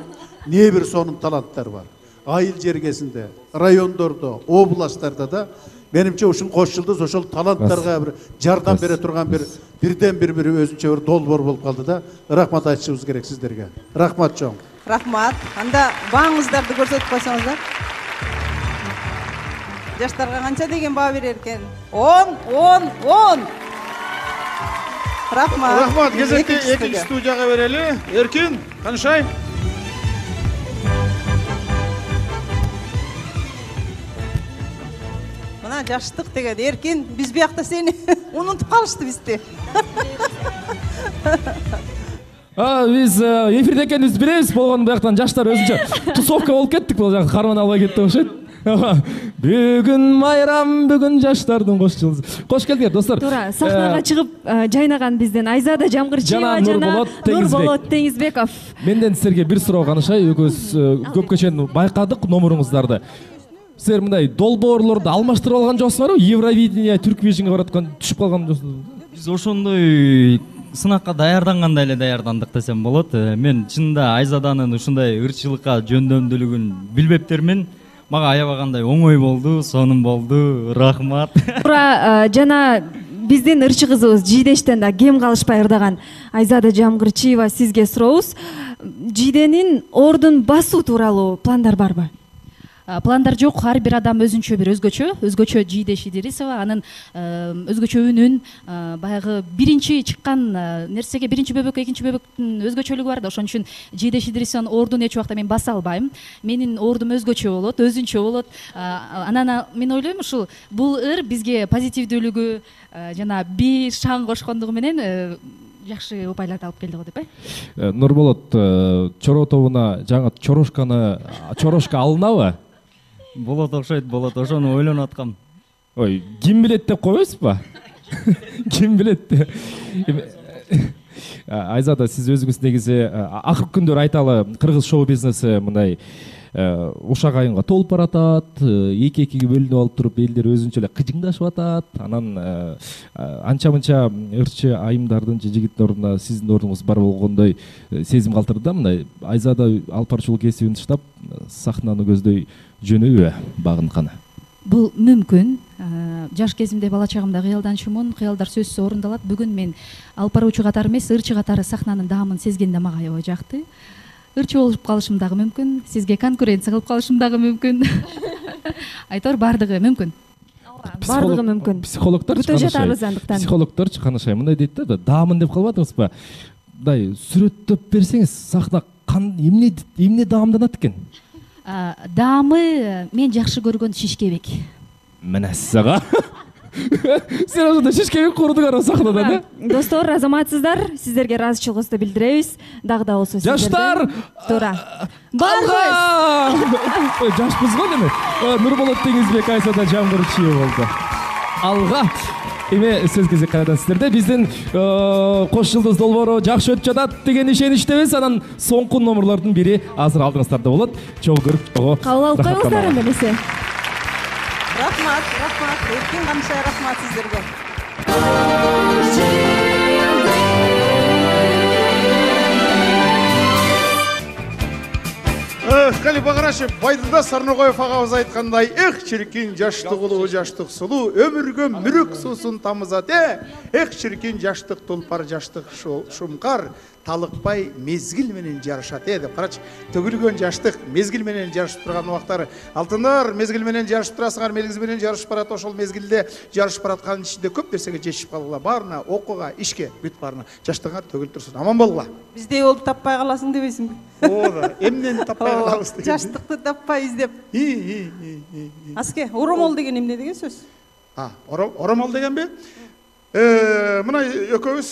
не бир сонун таланттар бар. Айыл жергесинде, райондордо, областтарда да менимче ушул Кош Жылдыз ошол таланттарга бир жардам бере турган бирден бир өзүнчө бир долбоор болуп калды да. Рахмат айтышыбыз керек сиздерге. Рахмат чоң. Рахмат. Анда бааңыздарды көрсөтүп койсоңуздар. Жаштарга канча деген баа берер экен? 10. Рахмат. Рахмат. Кезекти экинчи студияга берели. Эркин, Канышай. Мына жаштык деген Эркин, биз биякта сени унутуп калышты бизди. Биз эфирде экенибизди билебиз, болгону бияктан жаштар өзүнчө тусовка болуп кеттик, бул жака карман албай кетти окшойт. Бүгүн майрам, бүгүн жаштардын Кош Жылдызы. Кош келдиңер достор. Туура, сахнага чыгып жайнаган бизден Айзада Жамгырчиева жана Нурболот Теңизбеков. Менден силерге бир суроо Канышай, экөөбүз көпкө чейин байкадык номуруңуздарды. Силер мындай долбоорлорду алмаштырып алган жоксуңарбы? Евровидение, Турквижнге бараткан түшүп калган жоксуңарбы? Биз ошондой сынакка даярдангандай эле даярдандык десем болот. Мен чынында Айзаданын ушундай ырчылыкка жөндөмдүүлүгүн билбептермин. Мага аябагандай оңой болду, сонун болду. Рахмат. Туура жана биздин ырчы кызыбыз Жийдештен да кем калышпай ырдаган Айзада Жамгырчиева сизге сурообуз. Жийденин ордун басуу тууралуу пландар барбы? Пландар жок, ар бир адам өзгөчө Жийдеш Идирисова, анын өзгөчө үнүн, баягы биринчи чыккан нерсеге биринчи бөбөк, экинчи бөбөктүн өзгөчөлүгү бар да, ошон үчүн Жийдеш Идирисованын ордун эч убакта мен баса албайм. Менин ордум өзгөчө болот, өзүнчө болот. Анан мен ойлойм ушул бул ыр бизге позитивдүүлүгү жана би шаң кошкондугу менен жакшы упайларды алып келди го деп. Нурболот Чоро тобуна жаңы чорошка алынабы? Болот окшойт, ошону ойлонуп аткам. Ой, ким билет деп койбойсузбу? Ким билет? Айзада, сиз өзүңүз негизи акыркы күндөр айталы, кыргыз шоу бизнеси мындай ушак айынга толуп баратат, эки-экиге бөлүнүп алып туруп элдер өзүнчө эле кыжыңдашып атат. Анан анча-мынча ырчы айымдардын же жигиттин ордуна сиздин ордуңуз бар болгондой сезим калтырды да. Мындай Айзада алпарчылык кесибин таштап сахнаны көздөй жөнөбү багынтканы? Бул мүмкүн. Жаш кезимде бала чагымда кыялданчумун, кыялдар сөзсүз орундалат. Бүгүн мен алпаруучу катары эмес, ырчы катары сахнанын даамын сезгенде мага аябай жакты. Ырчы болуп калышым дагы мүмкүн, сизге конкуренция кылып калышым дагы мүмкүн. Айтор бардыгы мүмкүн. Бардыгы мүмкүн. Психологдор чыканышай мындай дейт да, даамын деп калбадыңызбы? Мындай сүрөттөп берсеңиз, сахна эмне даамданат экен? Даамы мен жакшы көргөн шишкебек. Мына сага. Сен ошондо шишкебек курдуңар сахнада, да? Достор, азаматсыздар, сиздерге ыраазычылыгыбызды билдиребиз. Дагы да болсо сиздерден. Жаштар! Туура. Ой, жашпыз го деме? Нурболот Теңизбек, Айзада Жамгырчиева болду. Алга. Эми сөз кезек кайрадан сиздерде. Биздин кош жылдыз долбоору жакшы өтүп жатат деген ишеничтебиз. Анан соңку номерлордун бири азыр алдыңыздарда болот. Чогуу көрүп, чогуу кабыл алып коюңуздар эмесе. Рахмат. Эркин Камшай, рахмат сиздерге. Калипа карашы, Байдылда Сарногоев агабыз айткандай, чиркин жаштык улуу, жаштык сулуу, өмүргө мүрүк суусун тамызат. Чиркин жаштык тулпар, жаштык шумкар, талыкпай мезгил менен жарышат деп. Карачы, төгүлгөн жаштык мезгил менен жарышып турган убактары. Алтындар, мезгил менен жарышып турасыңар, мезгил менен жарышып барат. Ошол мезгилде жарышып бараткан ичинде көп нерсеге жетишип калгыла. Баарына, окууга, ишке, бүт баарына. Жаштыгыңар төгүлүп турсун. Аман болгула. Биздей болуп таппай каласың дебейсиңби? Ооба, эмнени таппай калабыз деген. Жаштыкты таппай издеп. Аске, оромол деген эмне деген сөз? Оромол дегенби? Мына экөөбүз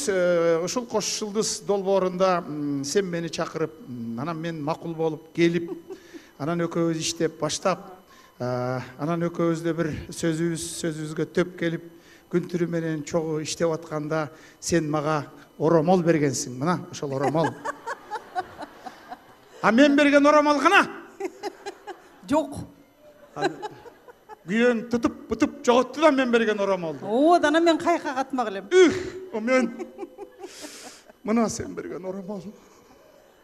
ушул кош жылдыз долбоорунда сен мени чакырып, анан мен макул болуп келип, анан экөөбүз иштеп баштап, анан экөөбүздө бир сөзүбүзгө төп келип, күн түрү менен чогуу иштеп атканда сен мага оромол бергенсиң. Мына ошол оромол. А мен берген оромол кана? Жок. Күйөөң тутуп жоготту да мен берген оромолду. Дана мен кайка катмак элем. Мен мына сен берген оромол.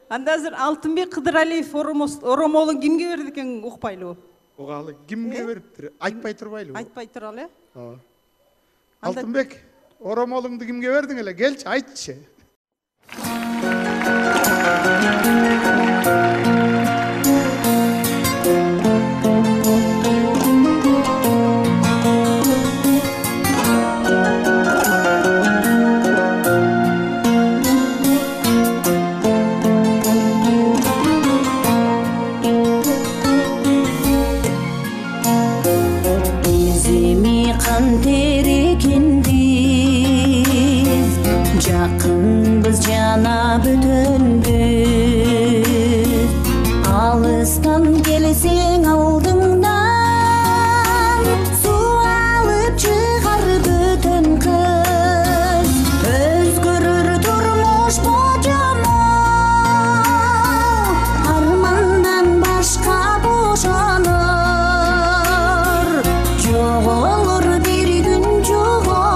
Анда азыр Алтынбек Кыдыралиев оромолун кимге берди экен укпайлыбы? Угалы кимге бериптир? Айтпай турбайлыбы? Айтпай туралы, Алтынбек, оромолуңду кимге бердиң эле? Келчи, айтчы. Жакынбыз жана бүтөнбүз, алыстан келсең алдыңдан, суу алып чыгар бүтөн кыз, өзгөрөр турмуш божомол, армандан башка бошонор, жоголор бир күн жоголор.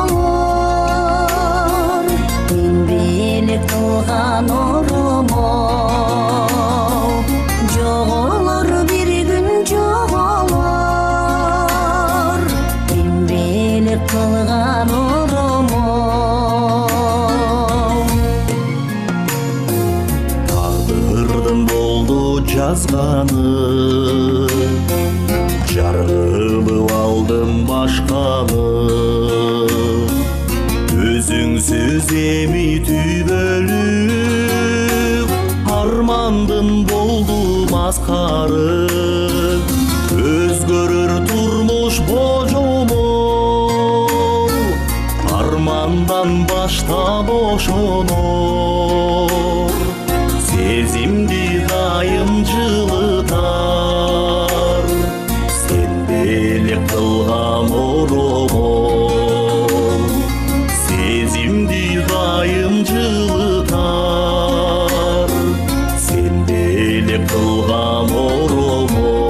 жазганы жаргылып алдым башканы өзүңсүз эми түбөлүк армандын болду маскары өзгөрөр турмуш божомол армандан башта бошонор сезимди дайым жылытар сен белек кылган оромол сезимди дайым жылытар сен белек кылган оромол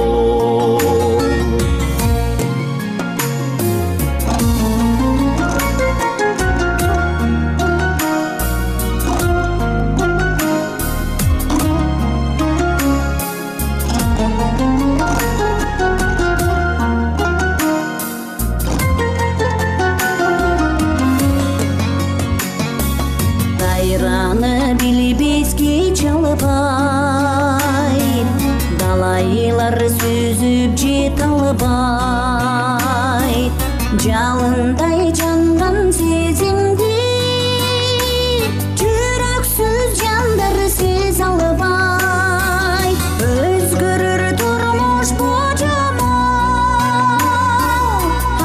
далайлар сүзүп жете албайт жалындай жанган сезимди жүрөксүз жандар сезе албайт өзгөрөр турмуш божомол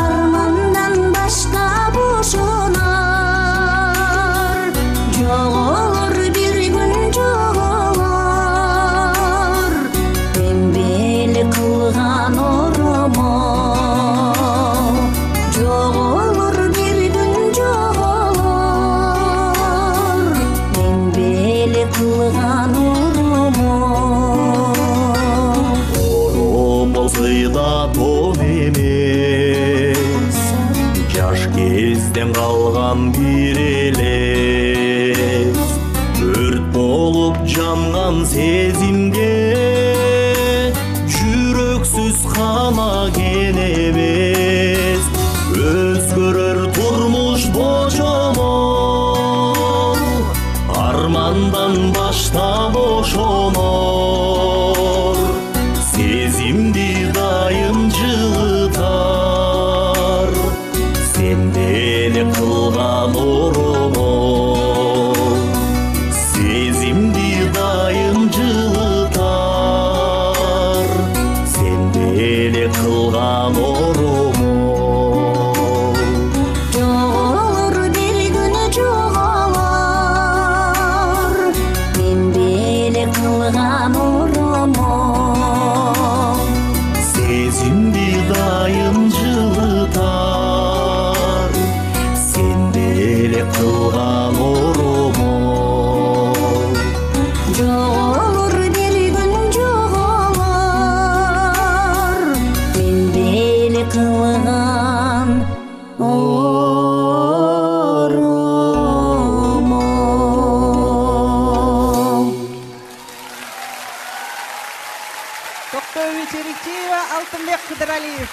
армандан башка бошонор жоголор бир күн жоголор мен белек кылган оромол жоголор бир күн жоголор мен белек кылган оромол сыйда тон эмес жаш кезден калган бир элес өрт болуп жанган сезимге жүрөксүз кана кен эмес өзгөрөр турмуш божомол армандан башта бошонор сезимди дайым жылытар сен белек кылган оромол сезимди дайым жылытар сен белек кылган оромол жоголор бир күнү жоголор мен белек кылган оромол сезимди дайым жылытар сен белек кылган оромол жоголор бир күн жоголор мен белек кылган оромол Токтоева Черикчиева, Алтынбек Кыдыралиев.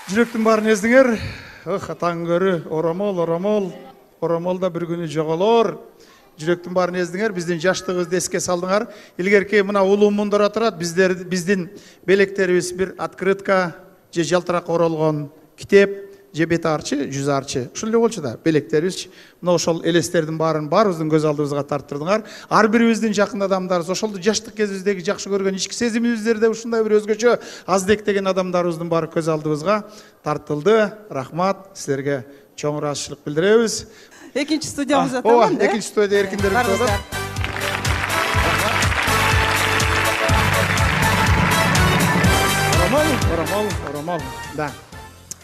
Жүректің барын ездіңер. Таң көрі, оромол да бір күні жоғалор. Жүректің барын ездіңер, біздің жаштығызды еске салдыңар. Илгерке мына улуу мундара турат, біздің белектерибиз бір открытка, же жалтырақ оролгон китеп, же бет арчы, жүз арчы. Ушул эле болчу да, белектерибиз. Мына ошол элестердин баарын баарыбыздын көз алдыбызга тарттырдыңар. Ар бирибиздин жакын адамдарыбыз, ошолду жаштык кезибиздеги жакшы көргөн ички сезимибиздерде ушундай бир өзгөчө аздек деген адамдарыбыздын баары көз алдыбызга тартылды. Рахмат, силерге чоң ыраазычылык билдиребиз. Экинчи студиябызда тамам, да? Экинчи студияда эркиндер өтөт. Оромол, да.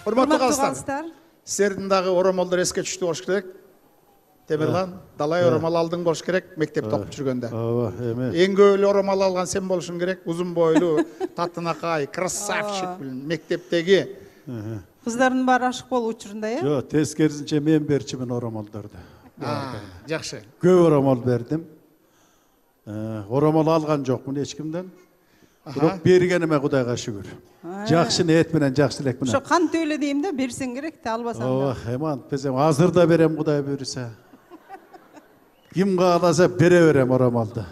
Урматтуу калыстар. Силердин дагы оромолдор эске түштү болуш керек. Темирлан, далай оромол алдың болуш керек мектепте окуп жүргөндө. Ооба, эме. Эң көп эле оромол алган сен болушуң керек. Узун бойлуу, татынакай, красавчик мектептеги. Кыздардын баары ашык болуп учурунда, э? Жок, тескерисинче мен берчимин оромолдорду. Жакшы. Көп оромол бердим. Оромол алган жокмун эч кимден. Бирок бергениме Кудайга шүгүр. Жакшы ниет менен, жакшы элек менен. Ошо кан төлө дейм да, берсең керек да, албасаң да. Ооба, эман безем азыр да берем Кудай буйруса. Ким кааласа бере берем оромалды.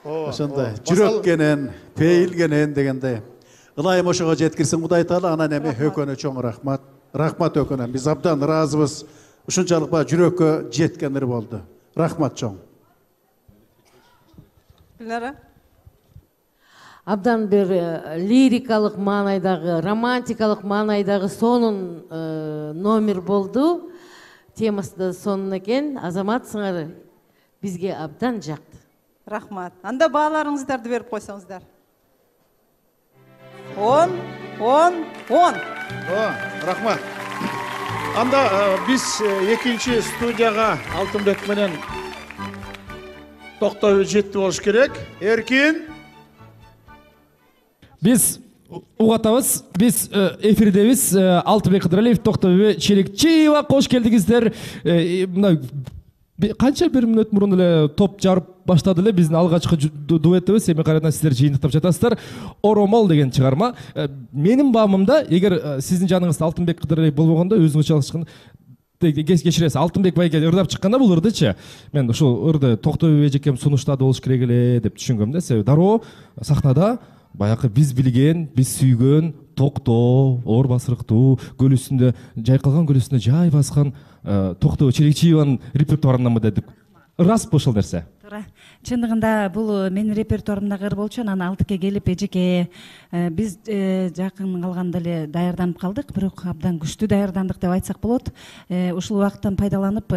Ошондой жүрөккенен, пейилгенен дегендей. Ылайым ошого жеткирсин Кудай Таала, анан эми Өкөнө чоң рахмат. Рахмат Өкөнө. Биз абдан ыраазыбыз. Ушунчалык ба жүрөккө жеткен ыр болду. Рахмат чоң. Дилара. Абдан бир лирикалык маанайдагы, романтикалык маанайдагы сонун номер болду. Темасы да сонун экен. Азаматсыңар, бизге абдан жакты. Рахмат. Анда бааларыңыздарды берип койсоңуздар. 10. Рахмат. Анда биз экинчи студияга Алтынбек менен токтоп жетти болуш керек. Эркин. Биз угатабыз, биз эфирдебиз. Алтынбек Кыдыралиев, Токтобүбө Челекчиева, кош келдиңиздер. Мына канча бир мүнөт мурун эле топ жарып баштады эле биздин алгачкы дуэтибиз. Эми кайрадан сиздер жыйынтыктап жатасыздар. Оромол деген чыгарма. Менин баамымда, эгер сиздин жаныңызда Алтынбек Кыдыралиев болбогондо, өзүңүз чалышкан кечиресиз. Алтынбек байке ырдап чыкканда бул ырдычы, мен ушул ырды Токтобүбө эжекем сунуштады болуш керек эле деп түшүнгөм да. Себеби дароо сахнада баягы биз билген, биз сүйгөн Токтоо, оор басырыктуу, көл үстүндө жайкалган, көл үстүндө жай баскан Токтоо Челекчиеванын репертуарынанбы дедик. Ырасызбы ошол нерсе? Туура. Чындыгында бул менин репертуарымдагы ыр болчу. Анан Алтыке келип эжеке биз жакын калганда эле даярданып калдык, бирок абдан күчтүү даярдандык деп айтсак болот. Ушул убакыттан пайдаланып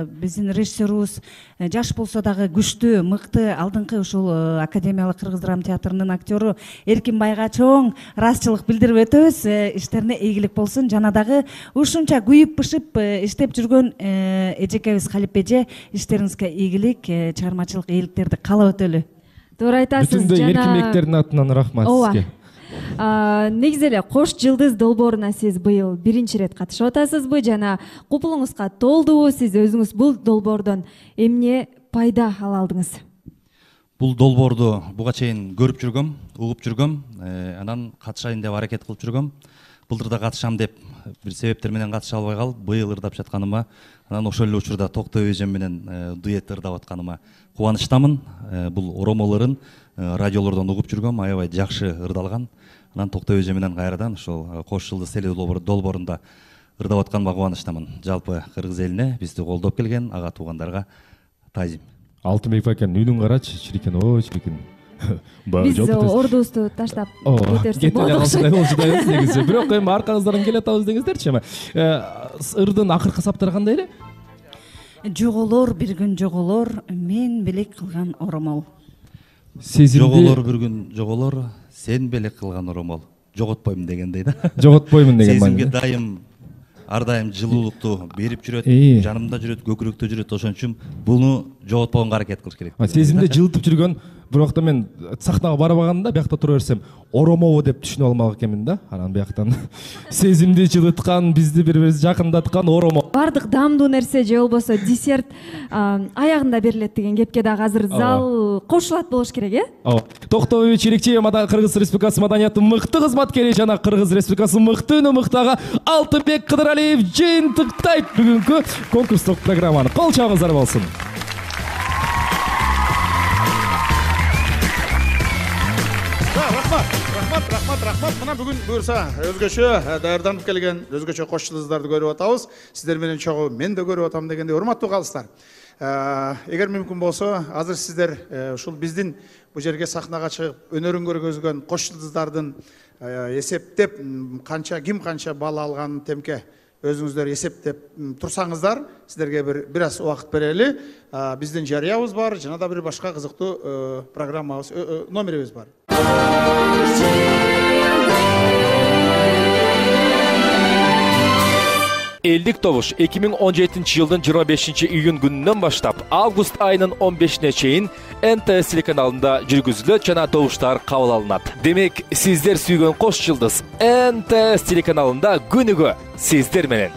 биздин режиссерубуз жаш болсо дагы күчтүү, мыкты, алдыңкы ушул Академиялык кыргыз драма театрынын актёру Эркин байга чоң ыраазычылык билдирип өтөбүз. Иштерине ийгилик болсун. Жана дагы ушунча күйүп бышып иштеп жүргөн эжекебиз Халип эже, иштериңизге ийгилик, чыгармачылык ийгиликтерди каалап өтөлү. Туура айтасыз. Бүтүндөй эркинбектердин атынан рахмат сизге. Негизи эле Кош жылдыз долбооруна сиз быйыл биринчи ирет катышып атасызбы жана купулуңузга толдубу? Сиз өзүңүз бул долбоордон эмне пайда ала алдыңыз? Бул долбоорду буга чейин көрүп жүргөм, угуп жүргөм, анан катышайын деп аракет кылып жүргөм. Былтыр да катышам деп бир себептер менен катыша албай калып, быйыл ырдап жатканыма, анан ошол эле учурда Токтобүбө эжем менен дуэт ырдап атканыма кубанычтамын. Бул оромол ырын радиолордон угуп жүргөм, аябай жакшы ырдалган. Анан Токтобүбө эже менен кайрадан ошол Кош жылдыз теле долбоорунда ырдап атканыма кубанычтамын. Жалпы кыргыз элине, бизди колдоп келген ага туугандарга таазим. Алтынбек байкенин үнүн карачы, чирикин, ой чирикин. Биз ордубузду таштап кетерсек болот окшойт. Негизи бирок эми аркаңыздан келе атабыз деңиздерчи. Эми ырдын акыркы саптары кандай эле? Жоголор бир күн жоголор, мен белек кылган оромол. Жоголор бир күн жоголор, сен белек кылган оромол. Жоготпойм дегендей да. Жоготпоймун деген маани. Сезимге дайым ар дайым жылуулукту берип жүрөт, жанымда жүрөт, көкүрөктө жүрөт. Ошон үчүн буну жоготпогонго аракет кылыш керек. Сезимде жылытып жүргөн, бирок да мен сахнага барбаганда биякта тура берсем, оромобу деп түшүнүп алмак экенмин да. Анан бияктан сезимди жылыткан, бизди бири-бирибизди жакындаткан оромол. Бардык даамдуу нерсе же болбосо десерт аягында берилет деген кепке дагы азыр зал кошулат болуш керек, э? Ооба. Токтобүбө Челекчиева Кыргыз Республикасы маданияттын мыкты кызматкери жана Кыргыз Республикасынын мыкты үнү мыктага Алтынбек Кыдыралиев жыйынтыктайт бүгүнкү конкурстук программаны. Кол чабыңыздар болсун. Рахмат. Мына бүгүн буюрса өзгөчө даярданып келген, өзгөчө кош жылдыздарды көрүп атабыз. Сиздер менен чогуу мен да көрүп атам дегендей урматтуу калыстар. Эгер мүмкүн болсо, азыр сиздер ушул биздин бу жерге сахнага чыгып өнөрүн көргөзгөн кош жылдыздардын эсептеп ким канча балл алганын темке өзүңүздөр эсептеп турсаңыздар, сиздерге бир аз убакыт берели. Биздин жарыябыз бар, жана да бир башка кызыктуу программабыз, номерибиз бар. Элдик добуш 2017-жылдын 25-июнь күнүнөн баштап август айынын 15-ине чейин НТС телеканалында жүргүзүлөт жана добуштар кабыл алынат. Демек, сиздер сүйгөн кош жылдыз НТС телеканалында күнүгө сиздер менен.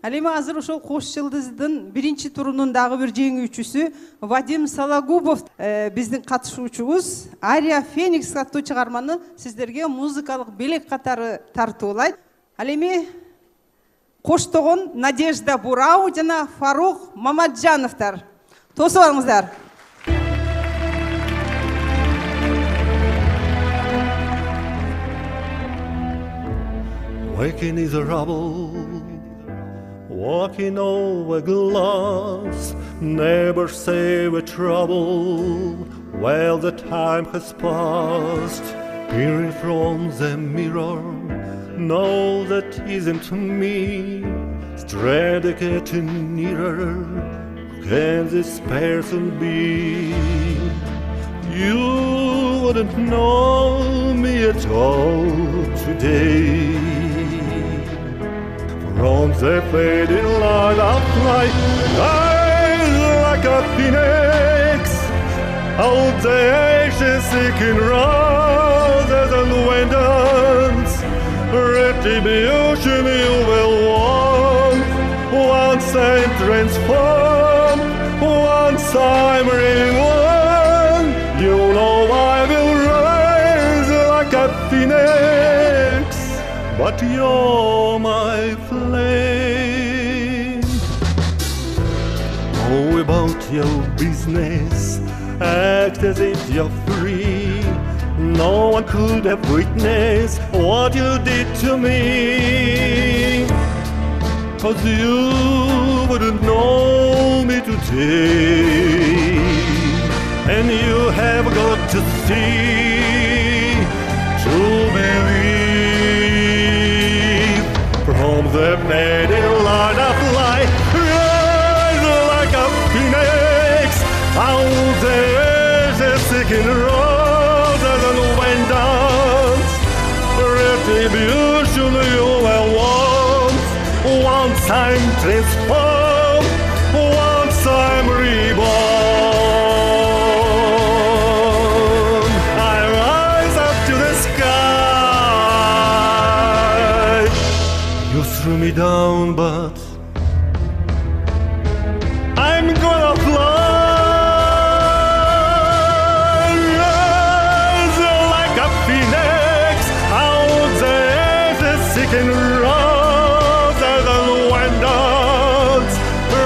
Ал эми азыр ошол Кош жылдыздын биринчи турунун дагы бир жеңүүчүсү Вадим Сологубов биздин катышуучубуз Ария Феникс аттуу чыгарманы сиздерге музыкалык белек катары тартуулайт. Ал эми Коштогон Надежда Бурау жана Фарух Мамаджановдор. Тосуп алыңыздар. Waking is a rubble, walking over glass, never say with trouble, well the time has passed. Peering from the mirror, no that isn't me, stranded getting nearer, can this person be? You wouldn't know me at all today. From the fading light of light, rise like a phoenix, out the ashes seeking roses and windows. Retribution you will want, once I'm transformed, once I'm reborn. You know I will rise like a phoenix, but you're my flame. Go about your business, act as if you're free. No one could have witnessed what you did to me, 'cause you wouldn't know me today. And you have got to see to believe. From the fading light of light, rise like a phoenix, out there seeking roses and windows. Retribution you will want, once I'm transformed, once I'm reborn. I rise up to the sky. You threw me down, but I'm gonna fly. Rise like a phoenix, out there seeking roses and windows.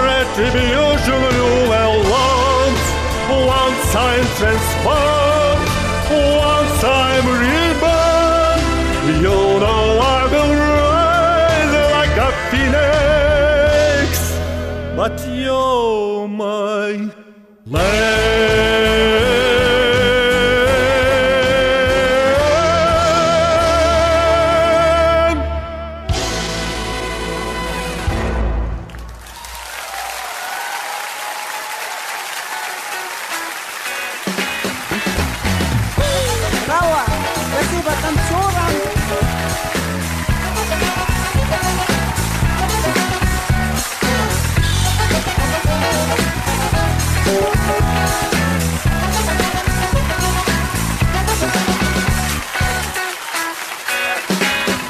Retribution you will want, once I'm transformed, once I'm reborn. You know I will rise like a phoenix, but you're my Браво! Спасибо танцорам!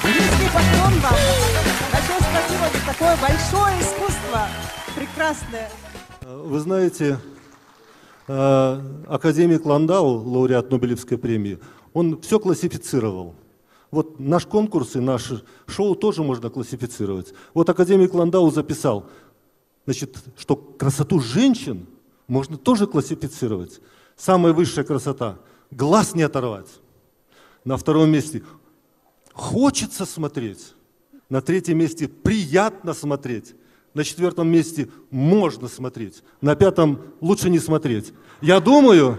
Низкий поклон вам! Большое спасибо за такое большое искусство! Прекрасное! Вы знаете, академик Ландау, лауреат Нобелевской премии, он все классифицировал. Вот наш конкурс и наше шоу тоже можно классифицировать. Вот академик Ландау записал, значит, что красоту женщин можно тоже классифицировать. Самая высшая красота – глаз не оторвать. На втором месте – хочется смотреть. На третьем месте – приятно смотреть. На четвертом месте можно смотреть, на пятом лучше не смотреть. Я думаю,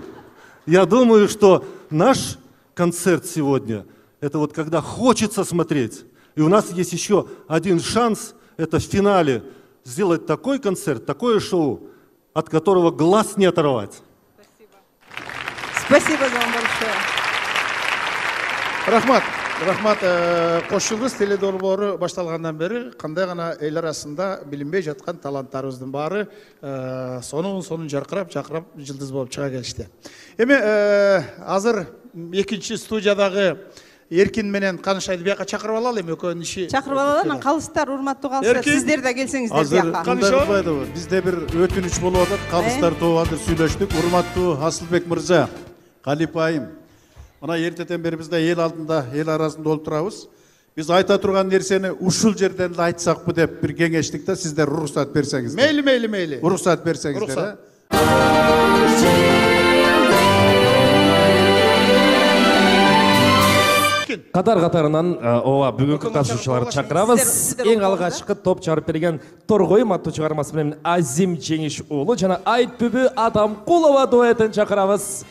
что наш концерт сегодня – это вот когда хочется смотреть. И у нас есть еще один шанс – это в финале сделать такой концерт, такое шоу, от которого глаз не оторвать. Спасибо вам большое. Рахмат. Кош жылдыз теледолбоору башталгандан бери кандай гана эл арасында билинбей жаткан таланттарыбыздын баары сонун жаркырап жылдыз болуп чыга келишти. Эми азыр экинчи студиядагы Эркин менен Канышайды бияка чакырып алалы эми экөөнүн иши. Чакырып алалы, анан калыстар, урматтуу калыстар, сиздер да келсеңиздер бияка. Азыр бизде бир өтүнүч болуп атат. Калыстар тобу азыр сүйлөштүк. Урматтуу Асылбек мырза, Калипа айым. Мына эртеден бери бизде эл алдында, эл арасында олтурабыз. Биз айта турган нерсени ушул жерден эле айтсакпы деп бир кеңештик да, сиздер уруксат берсеңиздер. Мейли. Уруксат берсеңиздер. Катар-катарынан ооба бүгүнкү катышуучуларды чакырабыз. Эң алгачкы топ чыгарып берген Торгойм аттуу чыгармасы менен Азим Жеңиш уулу жана Айтбүбү Атамкулова дуэтин чакырабыз.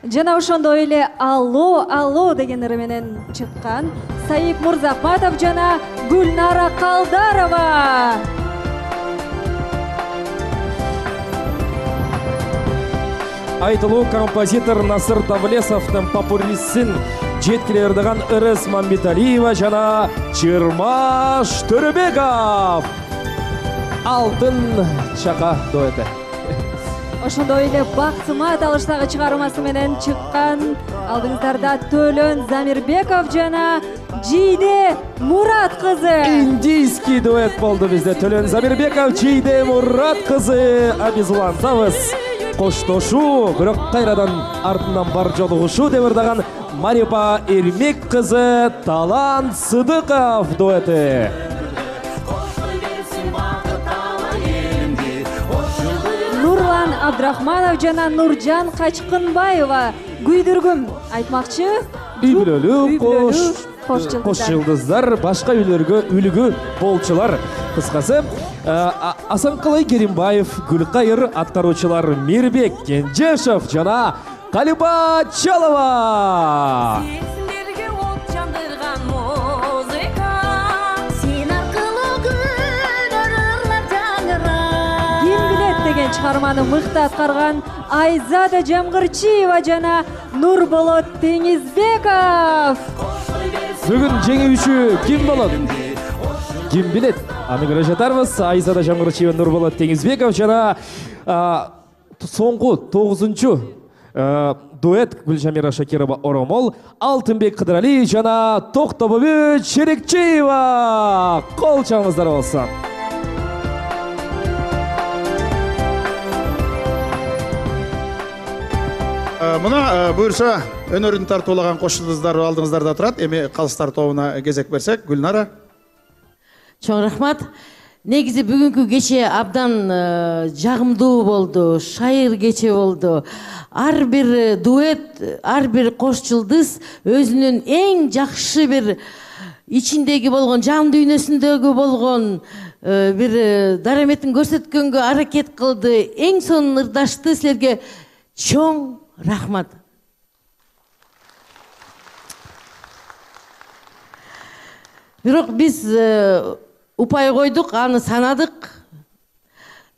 Жана ошондой эле Алло, алло деген ыры менен чыккан Саип Мурзахматов жана Гүлнара Калдарова. Айтылуу композитор Насыр Давлесовдун попурисин жеткире ырдаган Ырыс Мамбеталиева жана Чырмаш Төрөбеков. Алтын чака дуэти. Ошондой эле Бактымат алыштагы чыгармасы менен чыккан алдыңыздарда Төлөн Замирбеков жана Жийде Мурат кызы. Индийский дуэт болду бизде. Төлөн Замирбеков, Жийде Мурат кызы. Абизулантабыз. Коштошуу, бирок кайрадан артынан бар жолугушуу деп ырдаган Марипа Эрмек кызы Талант Сыдыков дуэти. Нурлан Абдрахманов жана Нуржан Качкынбаева. Күйдүргүм айтмакчы. Үй бүлөлүү кош жылдыздар, башка үйлөргө үлгү болчулар. Кыскасы Асанкалай Керимбаев, Гүлкайыр, аткаруучулар Мирбек Кенжешев жана Калипа Чалова. Ким билет деген чыгарманы мыкты аткарган Айзада Жамгырчиева жана Нурболот Теңизбеков. Бүгүн жеңүүчү ким болот? Ким билет? Аны көрө жатарбыз. Айзада Жамгырчиева, Нурболот Теңизбеков жана соңку 9-чу дуэт Гүлжамира Шакирова Оромол, Алтынбек Кыдыралиев жана Токтобүбү Черекчиева. Кол чабыңыздар болсун. Мына буюрса өнөрүн тартуулаган кош жылдыздар алдыңыздарда турат. Эми калыстар тобуна кезек берсек, Гүлнара. Чоң рахмат. Негизи бүгүнкү кече абдан жагымдуу болду, шайыр кече болду. Ар бир дуэт, ар бир кош жылдыз өзүнүн эң жакшы бир ичиндеги болгон, жан дүйнөсүндөгү болгон бир дараметин көрсөткөнгө аракет кылды. Эң сонун ырдашты. Силерге чоң рахмат. Бирок биз упай койдук, аны санадык.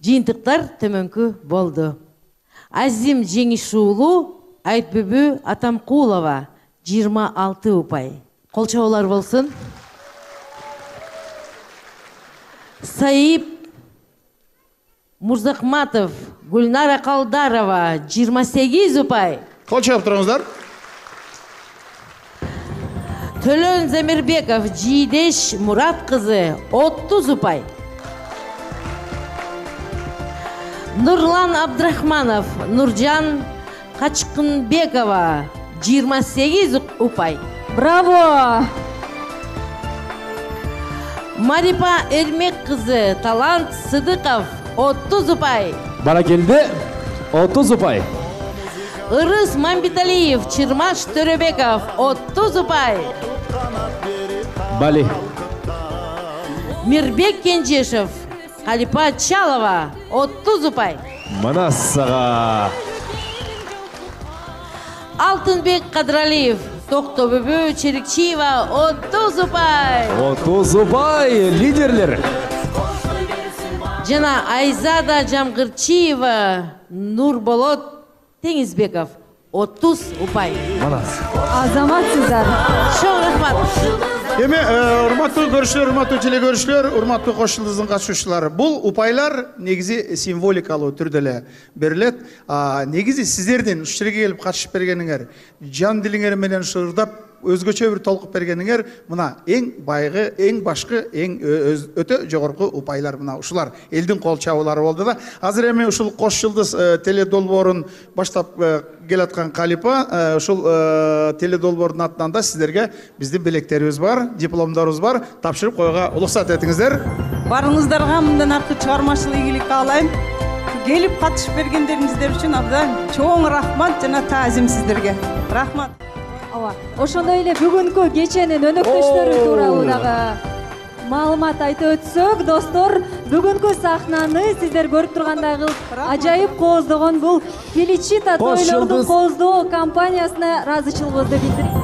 Жыйынтыктар төмөнкү болду. Азим Жеңиш уулу, Айтбүбү Атамкулова 26 упай. Кол чабуулар болсун. Саип Мурзахматов, Гүлнара Калдарова 28 упай. Кол чабып туруңуздар. Төлөн Замирбеков, Жийдеш Мурат кызы 30 упай. Нурлан Абдрахманов, Нуржан Качкынбекова 28 упай. Браво! Марипа Эрмек кызы, Талант Сыдыков 30 упай. Баракелде 30 упай. Ырыс Мамбеталиев, Чырмаш Төрөбеков 30 упай. Бали. Мирбек Кенжешев, Калипа Чалова 30 упай. Манасага. Алтынбек Кадыралиев, Токтобүбү Черекчиева 30 упай. 30 упай лидерлер. Жана Айзада Жамгырчиева, Нурболот Теңизбеков 30 упай. Манас. Азаматсыздар. Чоң рахмат. Эми урматтуу көрүүчүлөр, урматтуу телекөрүүчүлөр, урматтуу кош жылдыздын катышуучулары, бул упайлар негизи символикалуу түрдө эле берилет. Негизи сиздердин ушул жерге келип катышып бергениңер, жан дилиңер менен ырдап өзгөчө бир толкуп бергениңер мына эң байгы, эң башкы, эң өтө жогорку упайлар мына ушулар элдин кол чабуулары болду да. Азыр эми ушул кош жылдыз теле долбоорун баштап келаткан Калипа, ушул теле долбоордун атынан да сиздерге биздин белектерибиз бар, дипломдорубуз бар, тапшырып коюуга уруксат этиңиздер. Барыңыздарга мындан аркы чыгармачылык ийгилик каалайм. Келип катышып бергендериңиздер үчүн абдан чоң рахмат жана таазим сиздерге. Рахмат. Ооба, ошондой эле бүгүнкү кеченин өнөктөштөрү тууралуу дагы маалымат айтып өтсөк, достор, бүгүнкү сахнаны сиздер көрүп тургандай кылып ажайып кооздогон бул Феличита тойлордун кооздоо компаниясына ыраазычылыгыбызды билдирик.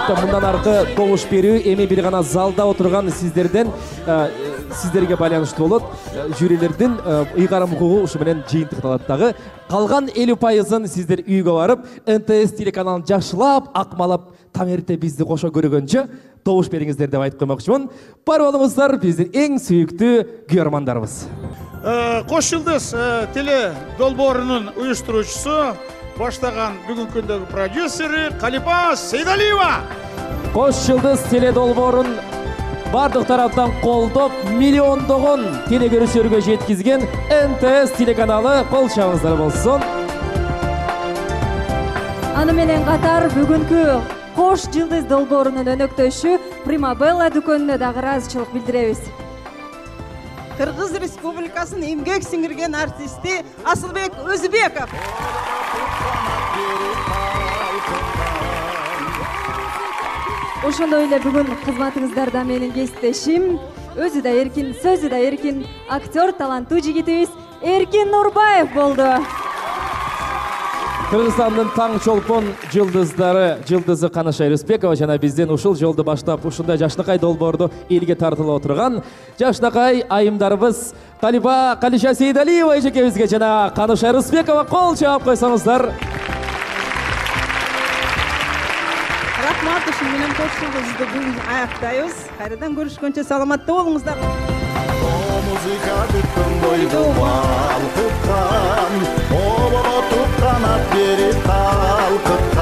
Мындан аркы добуш берүү эми бир гана залда отурган сиздерден сиздерге байланыштуу болот. Жюрилердин ыйгарым укугу ушу менен жыйынтыкталат дагы. Калган 50%-ын сиздер үйгө барып, НТС телеканалын жакшылап, акмалап, таң эрте бизди кошо көргөнчө добуш бериңиздер деп айтып коймокчумун. Бар болуңуздар, биздин эң сүйүктүү күйөрмандарыбыз. Кош жылдыз теле долбоорунун уюштуруучусу, баштаган бүгүнкү күндөгү продюсери Калипа Сейдалиева. Кош жылдыз теле долбоорун бардык тараптан колдоп, миллиондогон теле көрүүчүлөргө жеткизген НТС телеканалы кол чабыңыздар болсун. Аны менен катар бүгүнкү Кош жылдыз долбоорунун өнөктөшү Примабелла дүкөнүнө дагы ыраазычылык билдиребиз. Кыргыз Республикасынын эмгек сиңирген артисти Асылбек Өзүбеков. Ошондой эле бүгүн кызматыңыздарда менин кесиптешим, өзү да эркин, сөзү да эркин актер, таланттуу жигитибиз Эркин Нурбаев болду. Кыргызстандын таң чолпон жылдызы Канаша Рыспекова жана бизден ушул жолду баштап ушундай жашнакай долбоорду элге тартылып отурган жашнакай айымдарыбыз Калипа Калиша Сейдалиева эжекебизге жана Канаша Рыспекова кол чаап койсоңуздар. Рахмат, ушун менен кош жылдызды бүгүн аяктайбыз. Кайрадан көрүшкөнчө саламатта болуңуздар. Музыка бүткөн бойду балкыткан, о бала туп канат берип калкыткан.